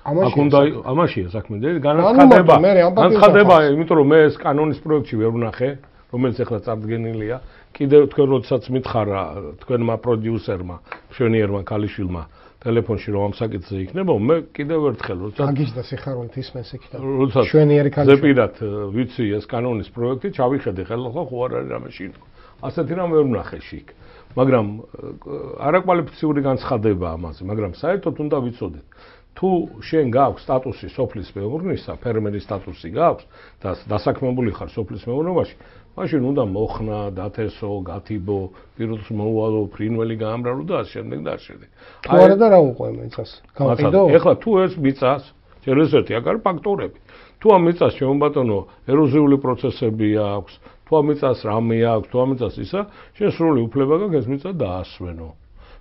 ამაში უნდა ამაშია საქმე. განაცხადება. განაცხადება, იმიტომ რომ მე ეს კანონის პროექტში ვერ ვნახე, რომელიც ახლა წარდგენილია. კიდევ თქვენ როდესაც მითხარა თქვენმა პროდიუსერმა, მშვენიერმა ქალიშვილმა ტელეფონში რომ ამ საკითხზე იქნება, მე კიდევ ერთხელ როდესაც აგიშდა სიხარულით ისმენს იქიდან. როდესაც მშვენიერი ქალიშვილი. ზეპირად ვიცი ეს კანონის პროექტი, ჩავიხედე ხელახლა ხო არ არის რამე შინო. ასეთი რამ ვერ ვნახე შიქ. მაგრამ არაკვალიფიციური განცხადება ამაზე, მაგრამ საერთოდ უნდა ვიცოდეთ. თუ შენ გაქვს სტატუსი სოფლის მეურნეობისა, ფერმერის სტატუსი გაქვს და დასაქმებული ხარ სოფლის მეურნეობაში, მაშინ უნდა მოხნა, დათესო, გათიბო, პირდაპირ მოუვალო, ფრინველი გაამრავლო და ასე შემდეგ და ასე შემდეგ. თუ არა და რა უყვე მიწას? გავყიდო? ეხლა თუ ეს მიწას, ჯერესერთი აქ არის ფაქტორები. თუ ამ მიწას შემობატონო ეროზიული პროცესები აქვს, თუ ამ მიწას რამე აქვს, თუ ამ მიწას ისა, შენ სრული უფლება გაქვს ეს მიწა დაასვენო.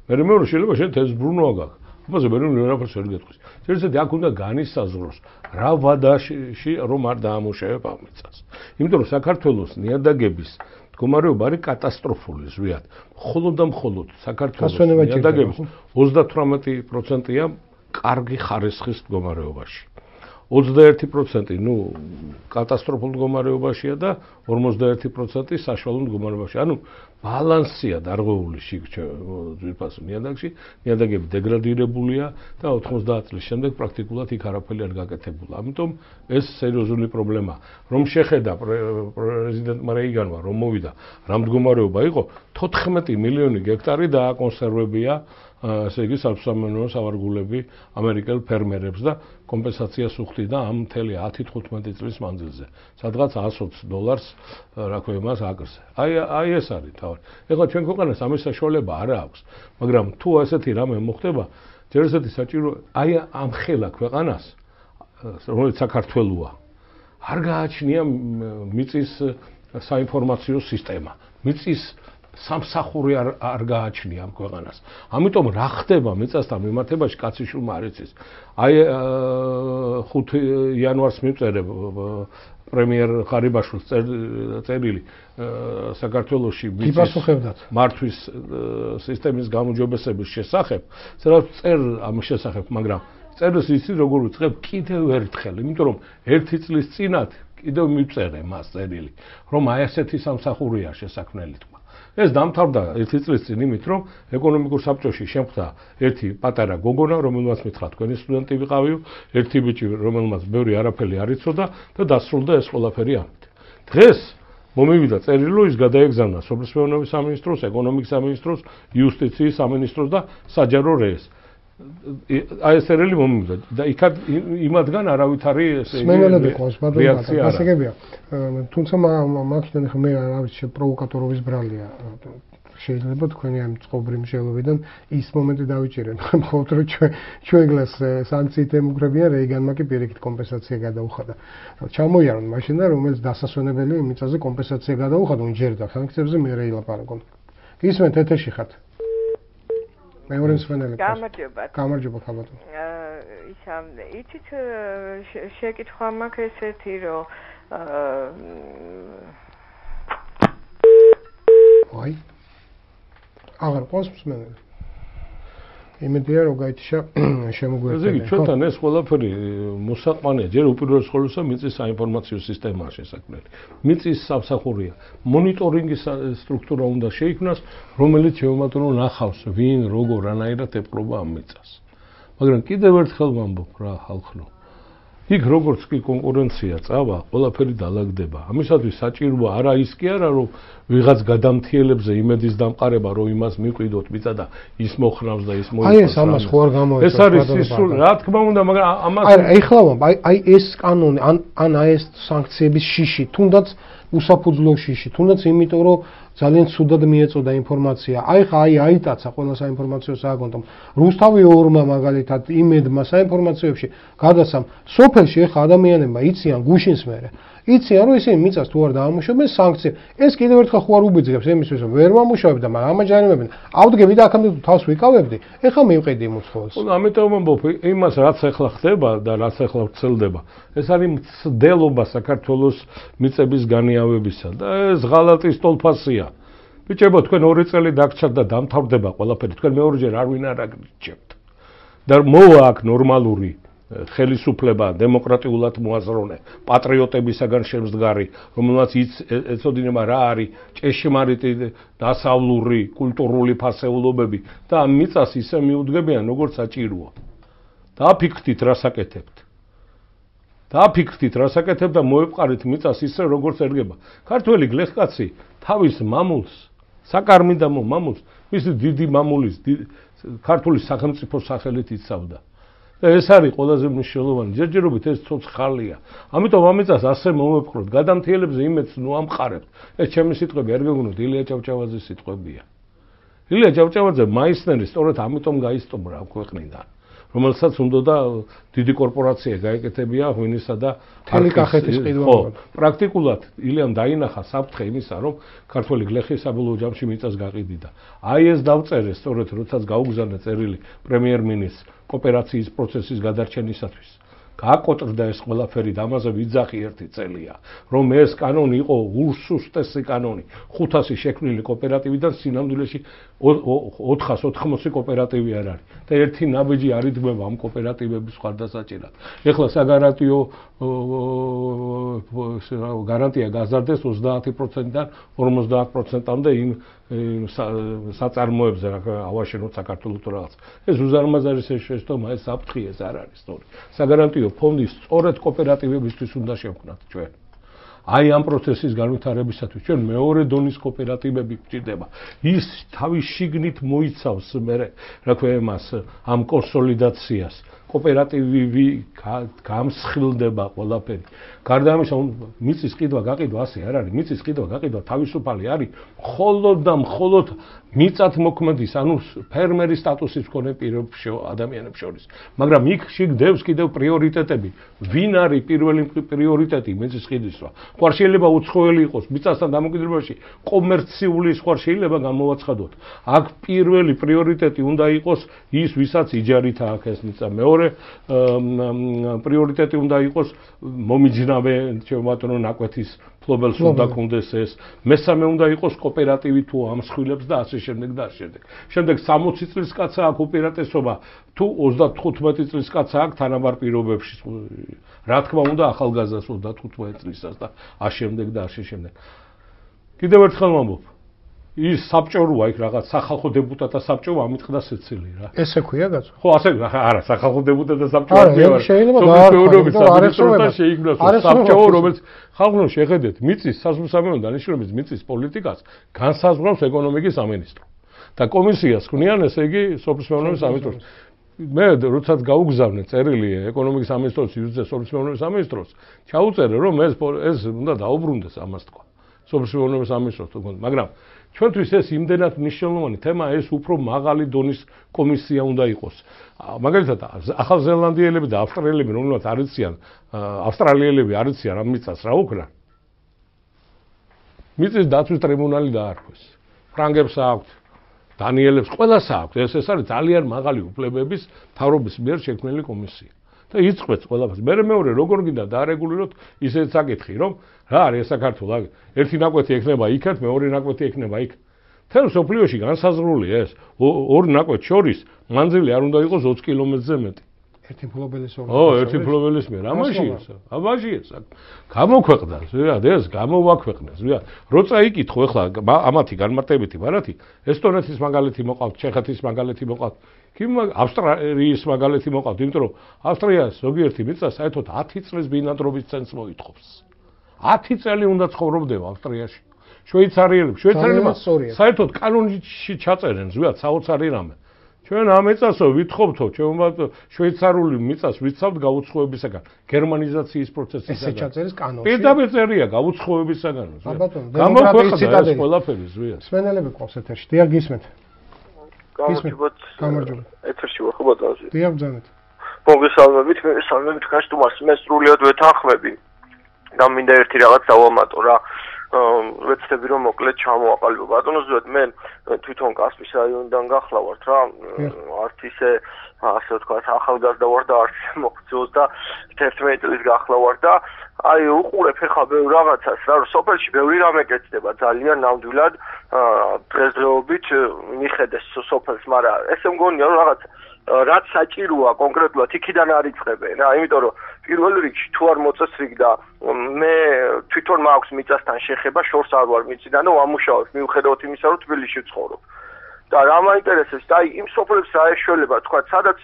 მე მეორე შეიძლება შენ ეს ბრუნვა გაქვს. ამაზე მე ვერაფერს ვერ გეტყვის. ჯერესერთი აქ უნდა განისაზღვროს რა ვადაში რომ არ დაამუშავებ ამ მიწას. იმიტომ რომ საქართველოს ნიადაგების მდგომარეობა არის კატასტროფული ზვიად. მხოლოდ და მხოლოდ საქართველოს ნიადაგების ოცდათვრამეტი პროცენტია კარგი ხარისხის მდგომარეობაში. ოცდაერთი პროცენტი ნუ კატასტროფულ მდგომარეობაშია და ორმოცდაერთი პროცენტი საშუალო მდგომარეობაში. ანუ ბალანსია დარღვეული ძვირფასო ნიადაგში, ნიადაგები დეგრადირებულია და ოთხმოცდაათ წლის შემდეგ პრაქტიკულად იქ არაფერი არ გაკეთებულა. ამიტომ ეს სერიოზული პრობლემაა. რომ შეხედა პრეზიდენტმა რეიგანმა, რომ მოვიდა, რა მდგომარეობა იყო, თოთხმეტი მილიონი გექტარი დააკონსერვებია ესე იგი სამსამენო სავარგულები ამერიკელ ფერმერებს და კომპენსაციას უხდიდა ამ მთელი ათი თხუთმეტი წლის მანძილზე. სადღაც ას ოცი დოლარს რა ქვია მას აკრზე. აი აი ეს არის თავი. ეხლა ჩვენ ქვეყანას ამის საშუალება არ აქვს, მაგრამ თუ ესეთი რამე მოხდება, ჯერ ესეთი საჭირო აი ამ ხელა ქვეყანას, რომელიც საქართველოა, არ გააჩნია მიწის საინფორმაციო სისტემა. მიწის სამსახური არ არ გააჩნია ამ ქვეყანას. ამიტომ რა ხდება მიწასთან მიმართებაში კაციშვილმა არ იცის. აი ხუთი იანვარს მივწერე პრემიერ ღარიბაშვილს წერილი საქართველოში მართვის სისტემის გამოჯობესების შესახებ, სადაც წერ ამ შესახებ, მაგრამ წერს ისი როგორ ვიწყებ კიდევ ერთხელ, იმიტომ რომ ერთი წლის წინათ კიდევ მივწერე მას წერილი, რომ აი ასეთი სამსახურია შესაქმნელი თქვა. ეს დამთავრდა ერთი წლის წინ იმით, რომ ეკონომიკურ საბჭოში შემხვდა ერთი პატარა გოგონა, რომელმაც მითხრა თქვენი სტუდენტი ვიყავიო, ერთი ბიჭი, რომელმაც ბევრი არაფერი არ იცოდა და დასრულდა ეს ყველაფერი ამით. დღეს მომივიდა წერილი, ის გადაეგზავნა სოფლის მეურნეობის სამინისტროს, ეკონომიკის სამინისტროს, იუსტიციის სამინისტროს და საჯარო რეეს. აი ეს წერილი მომივიდა და იქად იმათგან არავითარი სმენელები ყავს, ბატონო, გასაგებია. თუმცა მაგიდან ხა მე რა ვიცი, პროვოკატორობის ბრალია. შეიძლება თქვენი ამ წყობრი მსჯელობიდან ის მომენტი დავიჭირე, მხოლოდ რომ ჩვენ ჩვენგლას სანქციით ემუქრებიან, რეიგანმა კი პირიქით კომპენსაცია გადაუხადა. ჩამოიარონ მაშინ და რომელიც დასასვენებელი მიწაზე კომპენსაცია გადაუხადა, უნჯერდა სანქციებზე მე რეილაპარაკონ. ისმენთ ეთერში ხართ. მეორე მსმენელი. გამარჯობა. გამარჯობა ხალხო. ისა იცით შეკითხვა მაქვს ესეთი რომ აი აღარ ყავს მსმენელი. იმედია რომ გაიჩა შემოგვიერთდა. ესე იგი ჩვენთან ეს ყველაფერი მოსაყვანია, ჯერ უპირველეს ყოვლისა მიწის საინფორმაციო სისტემაა შესაქმნელი. მიწის სამსახურია. მონიტორინგის სტრუქტურა უნდა შეიქმნას, რომელიც შევამატრო ნახავს, ვინ, როგორ, რანაირად ეპყრობა ამ მიწას. მაგრამ კიდევ ერთხელ ვამბობ რა ხალხო. იქ როგორც კი კონკურენცია წავა, ყველაფერი დაალაგდება. ამისათვის საჭიროა არა ის კი არა, რომ ვიღაც გადამთიელებზე იმედის დამყარება, რომ იმას მიყვიდოთ მიწა და ის მოხნავს და ის მოიწევს. აი ეს ამას ხო არ გამოიწევს. ეს არის სისულ, რა თქმა უნდა, მაგრამ ამას აი ეხლა ვამბ, აი აი ეს კანონი, ან ან აი ეს სანქციების შიში, თუნდაც უსაფუძვლო შიში, თუნდაც იმიტომ, რომ ძალიან ცუდად მიეწოდა ინფორმაცია. აი ხა აი აიტაცა ყველა საინფორმაციო სააგენტომ. რუსთავი ორმა მაგალითად იმედმა საინფორმაციოებში გადასამ სოფელში ხა ადამიანებმა იციან გუშინს მერე. იციან რომ ისინი მიწას თუ არ დაამუშავებენ სანქცია. ეს კიდევ ერთხელ ხო არ უბიძგებს იმისთვის რომ ვერ მომუშავებ და მაგრამ ამაჯანებენ. ავდგები და აქამდე თუ თავს ვიკავებდი, ეხლა მივყიდი მუცხოველს. ხო, ამიტომ ამბობ, იმას რაც ახლა ხდება და რაც ახლა ვრცელდება, ეს არის მცდელობა საქართველოს მიწების განიავებისა და ეს ღალატის ტოლფასია. ბიჭებო, თქვენ ორი წელი დაგჭირთ და დამთავრდება ყველაფერი, თქვენ მეორეჯერ არ ვინ არ აგრჩებთ. და მოვა აქ ნორმალური ხელისუფლება, დემოკრატიულად მოაზროვნე, პატრიოტებისაგან შემდგარი, რომელსაც ეცოდინება რა არის ჭეშმარიტი დასავლური, კულტურული ფასეულობები და ამ მიწას ისე მიუდგებიან, როგორც საჭიროა. დააფიქრდით, რა საკეთებთ. დააფიქრდით, რა საკეთებთ და მოეპყარით მიწას ისე, როგორც ერგება. ქართველი გლეხკაცი თავის მამულს, საკარმიდამო მამულს, მისი დიდი მამულის, ქართული სახელმწიფო სახელით იცავდა. და ეს არის ყველაზე მნიშვნელოვანი. ჯერჯერობით ეს ცოცხალია. ამიტომ ამიწას ასე მოვეპყროთ, გადამთიელებზე იმედს ნუ ამყარებთ. ეს ჩემი სიტყვები არ გეგონოთ, ილია ჭავჭავაძის სიტყვებია. ილია ჭავჭავაძე მაისნერი სწორედ ამიტომ გაისტუმრა ამ ქვეყნიდან, რომელსაც უნდოდა დიდი კორპორაცია გაეკეთებია ღვინისა და თელი კახეთის ყიდვა. პრაქტიკულად ილიამ დაინახა საფრთხე იმისა, რომ ქართველი გლეხი საბოლოო ჯამში მიწას გაყიდიდა. აი ეს დავწერე სწორედ როდესაც გაუგზავნა წერილი პრემიერ-მინისტრს კოოპერაციის პროცესის გადარჩენისათვის. გააკოტრდა ეს ყველაფერი და ამაზე ვიძახი ერთი წელია, რომ ეს კანონი იყო უსუსტესი კანონი. ხუთასი შექმნილი კოოპერატივიდან სინამდვილეში ოთხას ოთხმოცი კოოპერატივი არ არის. და ერთი ნაბიჯი არ იდგმება ამ კოოპერატივების ხარდასაჭერად. ეხლა საგარანტიო გარანტია გაზარდეს ოცდაათი პროცენტიდან ორმოცდაათ პროცენტამდე იმ საწარმოებზე ავაშენოთ საქართველოს თუ რაღაც. ეს უზარმაზარი შეშტომა, ეს საფრთხე ეს არ არის სწორი. საგარანტიო ფონდი სწორედ კოოპერატივებისთვის უნდა შევქმნათ ჩვენ. აი ამ პროცესის განვითარებისათვის ჩვენ მეორე დონის კოოპერატივები გვჭირდება. ის თავის შიგნით მოიცავს მე რა ქვია მას ამ კონსოლიდაციას. კოოპერატივი გამსხილდება ყველაფერი. გარდა ამისა, მიწის ყიდვა გაყიდვა ასე არ არის. მიწის ყიდვა გაყიდვა თავისუფალი არის მხოლოდ და მხოლოდ მიწათ მოქმედის, ანუ ფერმერის სტატუსის მქონე ადამიანებს შორის. მაგრამ იქ შეგდევს კიდევ პრიორიტეტები. ვინ არის პირველი პრიორიტეტი მიწის ყიდვისა? ხوار შეიძლება უცხოელი იყოს მიწასთან დამოკიდებულებაში, კომერციული ხوار შეიძლება გამოვაცხადოთ. აქ პირველი პრიორიტეტი უნდა იყოს ის, ვისაც იჯარით აქვს ეს მიწა. მეორე პრიორიტეტი უნდა იყოს მომიჯნავე ჩემბატონო ნაკვეთის ფლობელს უნდა კონდეს ეს. მესამე უნდა იყოს კოოპერატივი თუ ამსხვილებს და ასე შემდეგ და ასე შემდეგ. შემდეგ სამოცი წლის კაცი აქვს უპირატესობა თუ ოცდათხუთმეტი წლის კაცი აქვს თანაბარ პირობებში. რა თქმა უნდა ახალგაზრდას ოცდათხუთმეტი წლისაც და ასე შემდეგ და ასე შემდეგ. კიდევ ერთხელ ვამბობ, ის საბჭოა იქ რაღაც სახალხო დეპუტატთა საბჭო ამიტყდა სეცილი რა. ესე ქვია გაწვა. ხო, ასე არა, სახალხო დეპუტატთა საბჭო არ არის. შეიძლება გაარკვევას შეიქმნას საბჭო, რომელიც ხალხო შეხედეთ, მიწის სასამართლო დანიშნულების მიწის პოლიტიკას განსაზღვრავს ეკონომიკის სამინისტრო. და კომისიას ქმნიან, ესე იგი, სოფლის მეურნეობის სამინისტროს. მე როდესაც გაუგზავნე წერილი ეკონომიკის სამინისტროს იუძე სოფლის მეურნეობის სამინისტროს, ჩაუწერე რომ ეს ეს უნდა დაუბრუნდეს ამას თქვა. სოფლის მეურნეობის სამინისტროს თქო, მაგრამ ჩვენთვის ეს იმდენად მნიშვნელოვანი თემა, ეს უფრო მაღალი დონის კომისია უნდა იყოს. მაგალითად, ახალზელანდიელები და ავსტრალიელები, რომელთაც არიციან, ავსტრალიელები არიციან ამ მიწას რა უქნა? მიწის დაცვის ტრიბუნალი დაარქვეს. ფრანგებს აქვთ, დანიელებს ყველას აქვთ. ეს ეს არის ძალიან მაღალი უფლებების მთავრობის მიერ შექმნილი კომისია. და იწყვეტს ყველაფერს. მე მეორე როგორ გინდა დაარეგულიროთ ისეთ საკითხი, რომ რა არის საქართველოს? ერთი ნაკვეთი ექნება იქეთ, მეორე ნაკვეთი ექნება იქ. თელ სოფლიოში განსაზღვრულია ეს. ორი ნაკვეთ შორის მანძილი არ უნდა იყოს ოცი კილომეტრზე მეტი. ერთი ფლობელის ორი. ო, ერთი ფლობელის მე რა მაშია? ამაშია. გამოქვეყნდა, ზოგადად ეს გამოვაქვეყნეს, ზოგადად. როცა იკითხო ახლა ამათი განმარტებითი ბარათი, ესტონეთის მაგალითი მოყავთ, ჩეხეთის მაგალითი მოყავთ. ავსტრალიის მაგალითი მოყავთ, იმიტომ რომ ავსტრიას ზოგიერთი მიწა საერთოდ ათი წლის ბინადრობის ცენტრს მოითხოვს. ათი წელი უნდა ცხოვრობდება ავსტრიაში. შვეიცარიელები, შვეიცარიელებმა საერთოდ კანონში ჩაწერენ, ზოგადად საოცარი რამე. ჩვენ ამ მიწასო ვითხოვთო, ჩვენ შვეიცარიული მიწას ვიცავთ გაუცხოებისაგან, გერმანიზაციის პროცესისაგან. ესე ჩაწერეს კანონში. პირდაპირ წერია გაუცხოებისაგან. გამოქვეყნდა ეს ყველაფერი, ზოგადად. სვენელები ყავს ეთერში, დიახ გისმენთ. გამარჯობათ. გამარჯობა. ეთერში ვარ ხო ბატონო? დიახ ბრძანეთ. მოგესალმებით, მე სალმებით ქაშტუმარს მე სრულიად ვეთანხმები. და მინდა ერთი რაღაც დავამატო რა. ვეცდები რომ მოკლედ ჩამოაყალიბო. ბატონო ზოგადად მე თვითონ კასპის რაიონიდან გახლავართ რა. არც ისე ასე ვთქვათ ახალგაზრდა ვარ და არც მოხძოს და თერთმეტი წლის გახლავარ და აი უყურებ ხა ბევრ რაღაცას რა სოფელში ბევრი რამე კეთდება ძალიან ნამდვილად დღესდღეობით მიხედეს სოფელს, მაგრამ ესე მგონია რომ რაღაც რაც საჭიროა კონკრეტულად იქიდან არ იწყებენ რა, იმიტომ რომ პირველ რიგში თუ არ მოწესრიგდა მე თვითონ მაქვს მიწასთან შეხება, შორს არ ვარ მიწიდან და ვამუშავებ მიუხედავად იმისა რომ თბილისში ვცხოვრობ. და რა მაინტერესებს და აი იმ სოფლებს რა ეშველება თქვა სადაც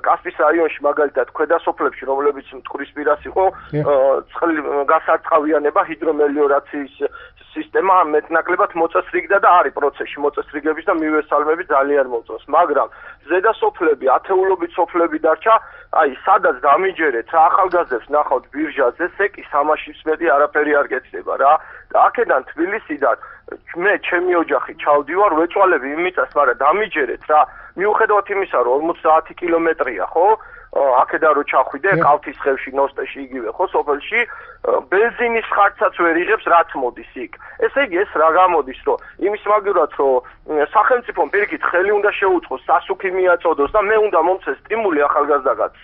კასპის რაიონში მაგალითად ქვედა სოფლებში რომლებიც მტკვრის პირას იყო წყლის გასარწყავიანება ჰიდრომელიორაციის სისტემა მეტნაკლებად მოწესრიგდა და არის პროცესში მოწესრიგების და მივესალმები ძალიან მოწონს მაგრამ ზედა სოფლები ათეულობით სოფლები დარჩა აი სადაც დამიჯერეთ რა ახალგაზრდებს ნახავთ ბირჟაზე სეკი სამაშიც მეტი არაფერი არ გეცდება რა და აქედან თბილისიდან მე ჩემი ოჯახი ჩავდივარ ვეწვალები იმიწას მაგრამ დამიჯერეთ რა მიუხედავად იმისა რომ ორმოცდაათი კილომეტრია ხო აქედან რო ჩახვიდე კალთის ხევში ნოსტეში იგივე ხო სოფელში ბენზინის ხარჯსაც ვერ იღებს რაც მოდის იქ ესე იგი ეს რა გამოდის რომ იმის მაგივრად რომ სახელმწიფომ პირიქით ხელი უნდა შეუწყოს სასუქი მიაწოდოს და მე უნდა მომცეს სტიმული ახალგაზრდაგაც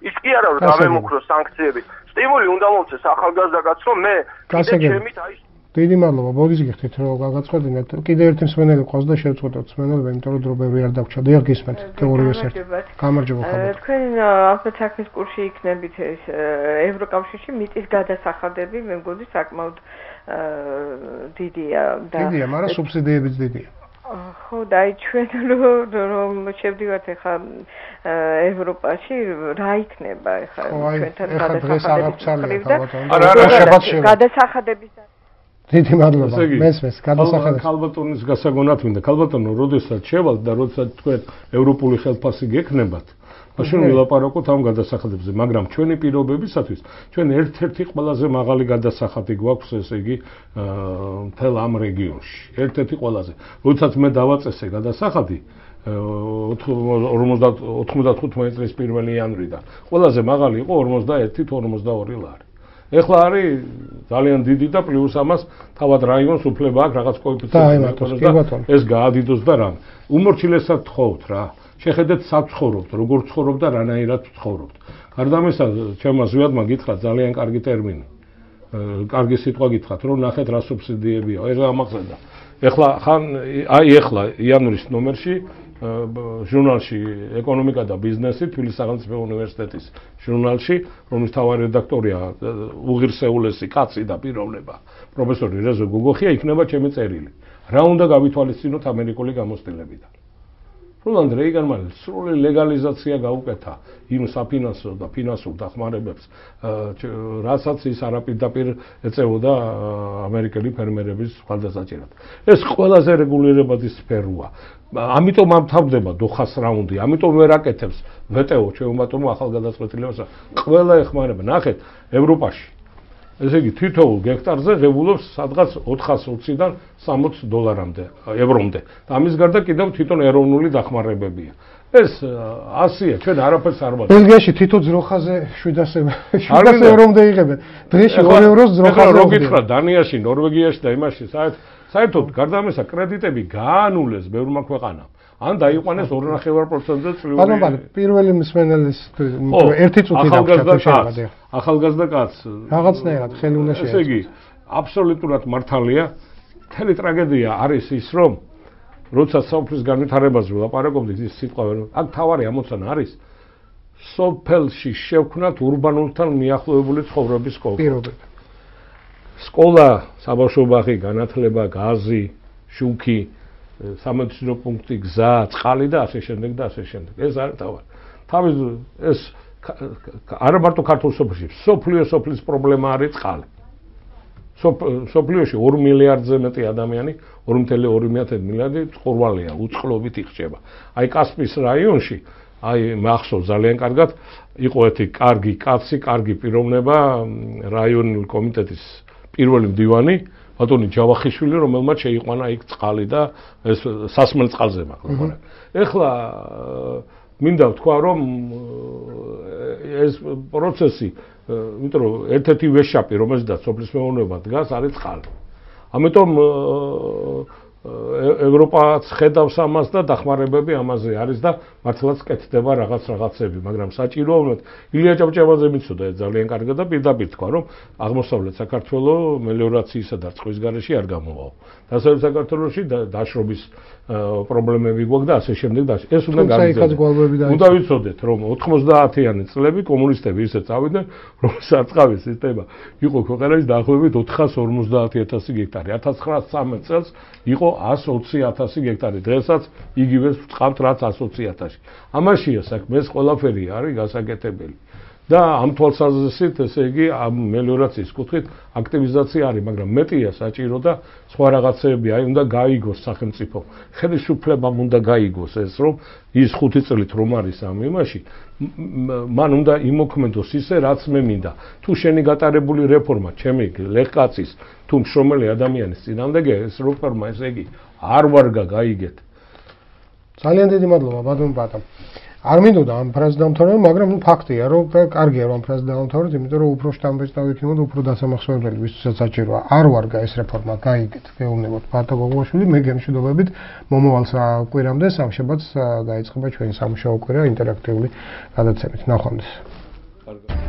ის კი არა რომ დამემუქროს სანქციებით. სტიმული უნდა მომწეს ახალგაზრდა კაცს რომ მე კიდე ჩემით აი დიდი მადლობა, ბოდის გიხდით რომ გაგაცხადინეთ. კიდე ერთი მსმენელი ყავს და შევწყვეტოთ მსმენელები, იმიტომ რომ დრო ბევრი არ დაგვრჩა. დიახ, გისმენთ. თეორიას ერთ. გამარჯობა ხალხო. თქვენ ალბათ საქმის კურსში იქნებით ეს ევროკავშირში მიწის გადასახადები, მე მგონი საკმაოდ დიდია და დიდია, მაგრამ სუბსიდიებიც დიდია. ხო, და აი ჩვენ რომ შევდივართ ახლა ევროპაში, რა იქნება ახლა ჩვენთან გადასახადების გადასახადების დიდი მადლობა. მესმეს გადასახადებს. ქალბატონის გასაგონად მინდა. ქალბატონო, როდესაც შევალთ და როდესაც თქვენ ევროპული ხელფასი გექნებათ, მაშინ ვილაპარაკოთ ამ გადასახადებზე, მაგრამ ჩვენი პირობებისათვის ჩვენ ერთ-ერთი ყველაზე მაღალი გადასახადი გვაქვს, ესე იგი, მთელ ამ რეგიონში. ერთ-ერთი ყველაზე. როდესაც მე დავაწესე გადასახადი ოცდათხუთმეტი წლის პირველი იანვრიდან, ყველაზე მაღალი იყო ორმოცდაერთი თუ ორმოცდაორი ლარი. ეხლა არის ძალიან დიდი და პლუს ამას თავად რაიონს უფლება აქვს რაღაც კოეფიციენტი ეს გაადიდოს და რამ. უმორჩილესად თხოვთ რა. შეხედეთ სად ცხოვრობთ, როგორ ცხოვრობთ და რანაირად ცხოვრობთ. გარდა ამისა, ჩემმა ზვიადმა გითხრა ძალიან კარგი ტერმინი. კარგი სიტყვა გითხრათ, რომ ნახეთ რა სუბსიდიებია. ეს ამახსენდა. ეხლა ხან აი ეხლა იანვრის ნომერში ჟურნალში ეკონომიკა და ბიზნესი თბილისის სახელმწიფო უნივერსიტეტის ჟურნალში, რომლის მთავარი რედაქტორია უღირსეულესი კაცი და პიროვნება პროფესორი რეზო გოგოხია, იქნება ჩემი წერილი. რა უნდა გავითვალისწინოთ ამერიკული გამოცდილებიდან. როლანდ რეიგანმა სრული ლეგალიზაცია გაუკეთა იმ საფინანსო და ფინანსურ დახმარებებს, რასაც ის არაპირდაპირ ეწეოდა ამერიკელი ფერმერების ხალხასაჭირად. ეს ყველაზე რეგულირებადი სფეროა. ამიტომ ამთავრდება დოხას რაუნდი, ამიტომ ვერ აკეთებს ვეტეო ჩვეულებრივ ახალგადაწყვეტილებას. ყველა ეხმარება. ნახეთ, ევროპაში ესე იგი თითოეულ გექტარზე ღებულობს სადღაც ოთხასი ოციდან სამოცი დოლარამდე, ევრომდე. და ამის გარდა კიდევ თვითონ ეროვნული დახმარებებია. ეს ასია, ჩვენ არაფერს არ ვაძლევთ. ბელგიაში თითო ძროხაზე შვიდასე ევრომდე იღებენ. დღეში ორი ევროს ძროხაზე. რო გითხრა დანიაში, ნორვეგიაში და იმაში, საერთოდ გარდა ამისა კრედიტები გაანულეს ბევრმა ქვეყანამ. ან დაიყვანეს ორ ნახევარ პროცენტზე წლიური. ბატონო, პირველი მსმენელის ერთი წუთი დაგვრჩა. ახალგაზრდა კაცს რაღაცნაირად ხელი უნდა შეეწყოს. ესე იგი, აბსოლუტურად მართალია. მთელი ტრაგედია არის ის, რომ როდესაც სოფლის განვითარებაზე ვლაპარაკობდით, ის სიტყვა ვერ. აქ თავარი ამოცანა არის სოფელში შევქმნათ ურბანულთან მიახლოებული ცხოვრების კულტურა. სკოლა, საბავშვო ბაღი, განათლება, გაზი, შუქი, სამედიცინო პუნქტი, გზა, წყალი და ასე შემდეგ და ასე შემდეგ. ეს არის თავარი. თავის ეს არა მარტო ქართულ სოფელში, სოფლიო სოფლის პრობლემა არის წყალი. სოფლიოში ორ მილიარდზე მეტი ადამიანი, ორი კoma ორი მილიარდი წყურვალია, უწყლობით იხჭება. აი კასპიის რაიონში, აი მახსოვს ძალიან კარგად, იყო ერთი კარგი კაცი, კარგი პიროვნება, რაიონული კომიტეტის პირველი მდივანი, ბატონი ჯავახიშვილი, რომელმაც შეიყვანა იქ წყალი და ეს სასმელ წყალზე მაქვს. ეხლა მინდა ვთქვა, რომ ეს პროცესი, იმიტომ რომ ერთ-ერთი ვეშაპი, რომელზედაც სოფლის მეურნეობა დგას, არის წყალი. ამიტომ ევროპაც ხედავს ამას და დახმარებები ამაზე არის და მართლაც კეთდება რაღაც რაღაცები, მაგრამ საჭიროა ვთქვათ, ილია ჭავჭავაძე მიცოდა ეს ძალიან კარგად და პირდაპირ თქვა, რომ აღმოსავლეთ საქართველოს მელიორაციისა და წყლის გარეშე არ გამოვაო. დასავლეთ საქართველოში დაშრობის პრობლემები გვაქვს და ასე შემდეგ და ეს უნდა გამიძიოს. უნდა ვიცოდეთ, რომ ოთხმოცდაათიანი წლები კომუნისტები ისე წავიდნენ, რომ სარწყავის სისტემა იყო ქვეყანაში დაახლოებით ოთხას ორმოცდაათი ათასი გექტარი. ათას ცხრაასი წამეტ წელს იყო ათას ოცი ათასი გექტარი. დღესაც იგივეს ვწყავთ რაც ათას ოცი ათასი. ამაშია საქმე, ეს ყველაფერი არის გასაკეთებელი. და ამ თვალსაზრისით, ესე იგი, ამ მელიორაციის კუთხით აქტივიზაცია არის, მაგრამ მეტია საჭირო და სხვა რაღაცები, აი უნდა გაიგოს სახელმწიფო. ხელისუფლებამ უნდა გაიგოს ეს, რომ ის ხუთი წლით რომ არის ამ იმაში, მან უნდა იმოქმედოს ისე, რაც მე მინდა. თუ შენი გატარებული რეფორმა, ჩემი ლეხკაცის, თუ მშრომელი ადამიანის წინააღმდეგია, ეს რეფორმა, ესე იგი, არ ვარგა გაიგეთ. ძალიან დიდი მადლობა, ბატონ ბატონ. არ მინდოდა ამ ფრაზას დამთავრება, მაგრამ ნუ ფაქტია, რომ კარგია რომ ამ ფრაზას დავამთავროთ, იმიტომ რომ უფრო შტამბეჭდავით იმოდ უფრო დასამახსოვრებელი ვისაც საჭიროა. არ ვარგა ეს რეფორმა, გაიგეთ, გეუბნებოდ ბატონ გოგოშვილი, მე გემშვიდობებით მომავალ კვირამდე სამშაბათს დაიწყება ჩვენი სამუშაო კვირა ინტერაქტიული გადაცემით. ნახვამდის. კარგად.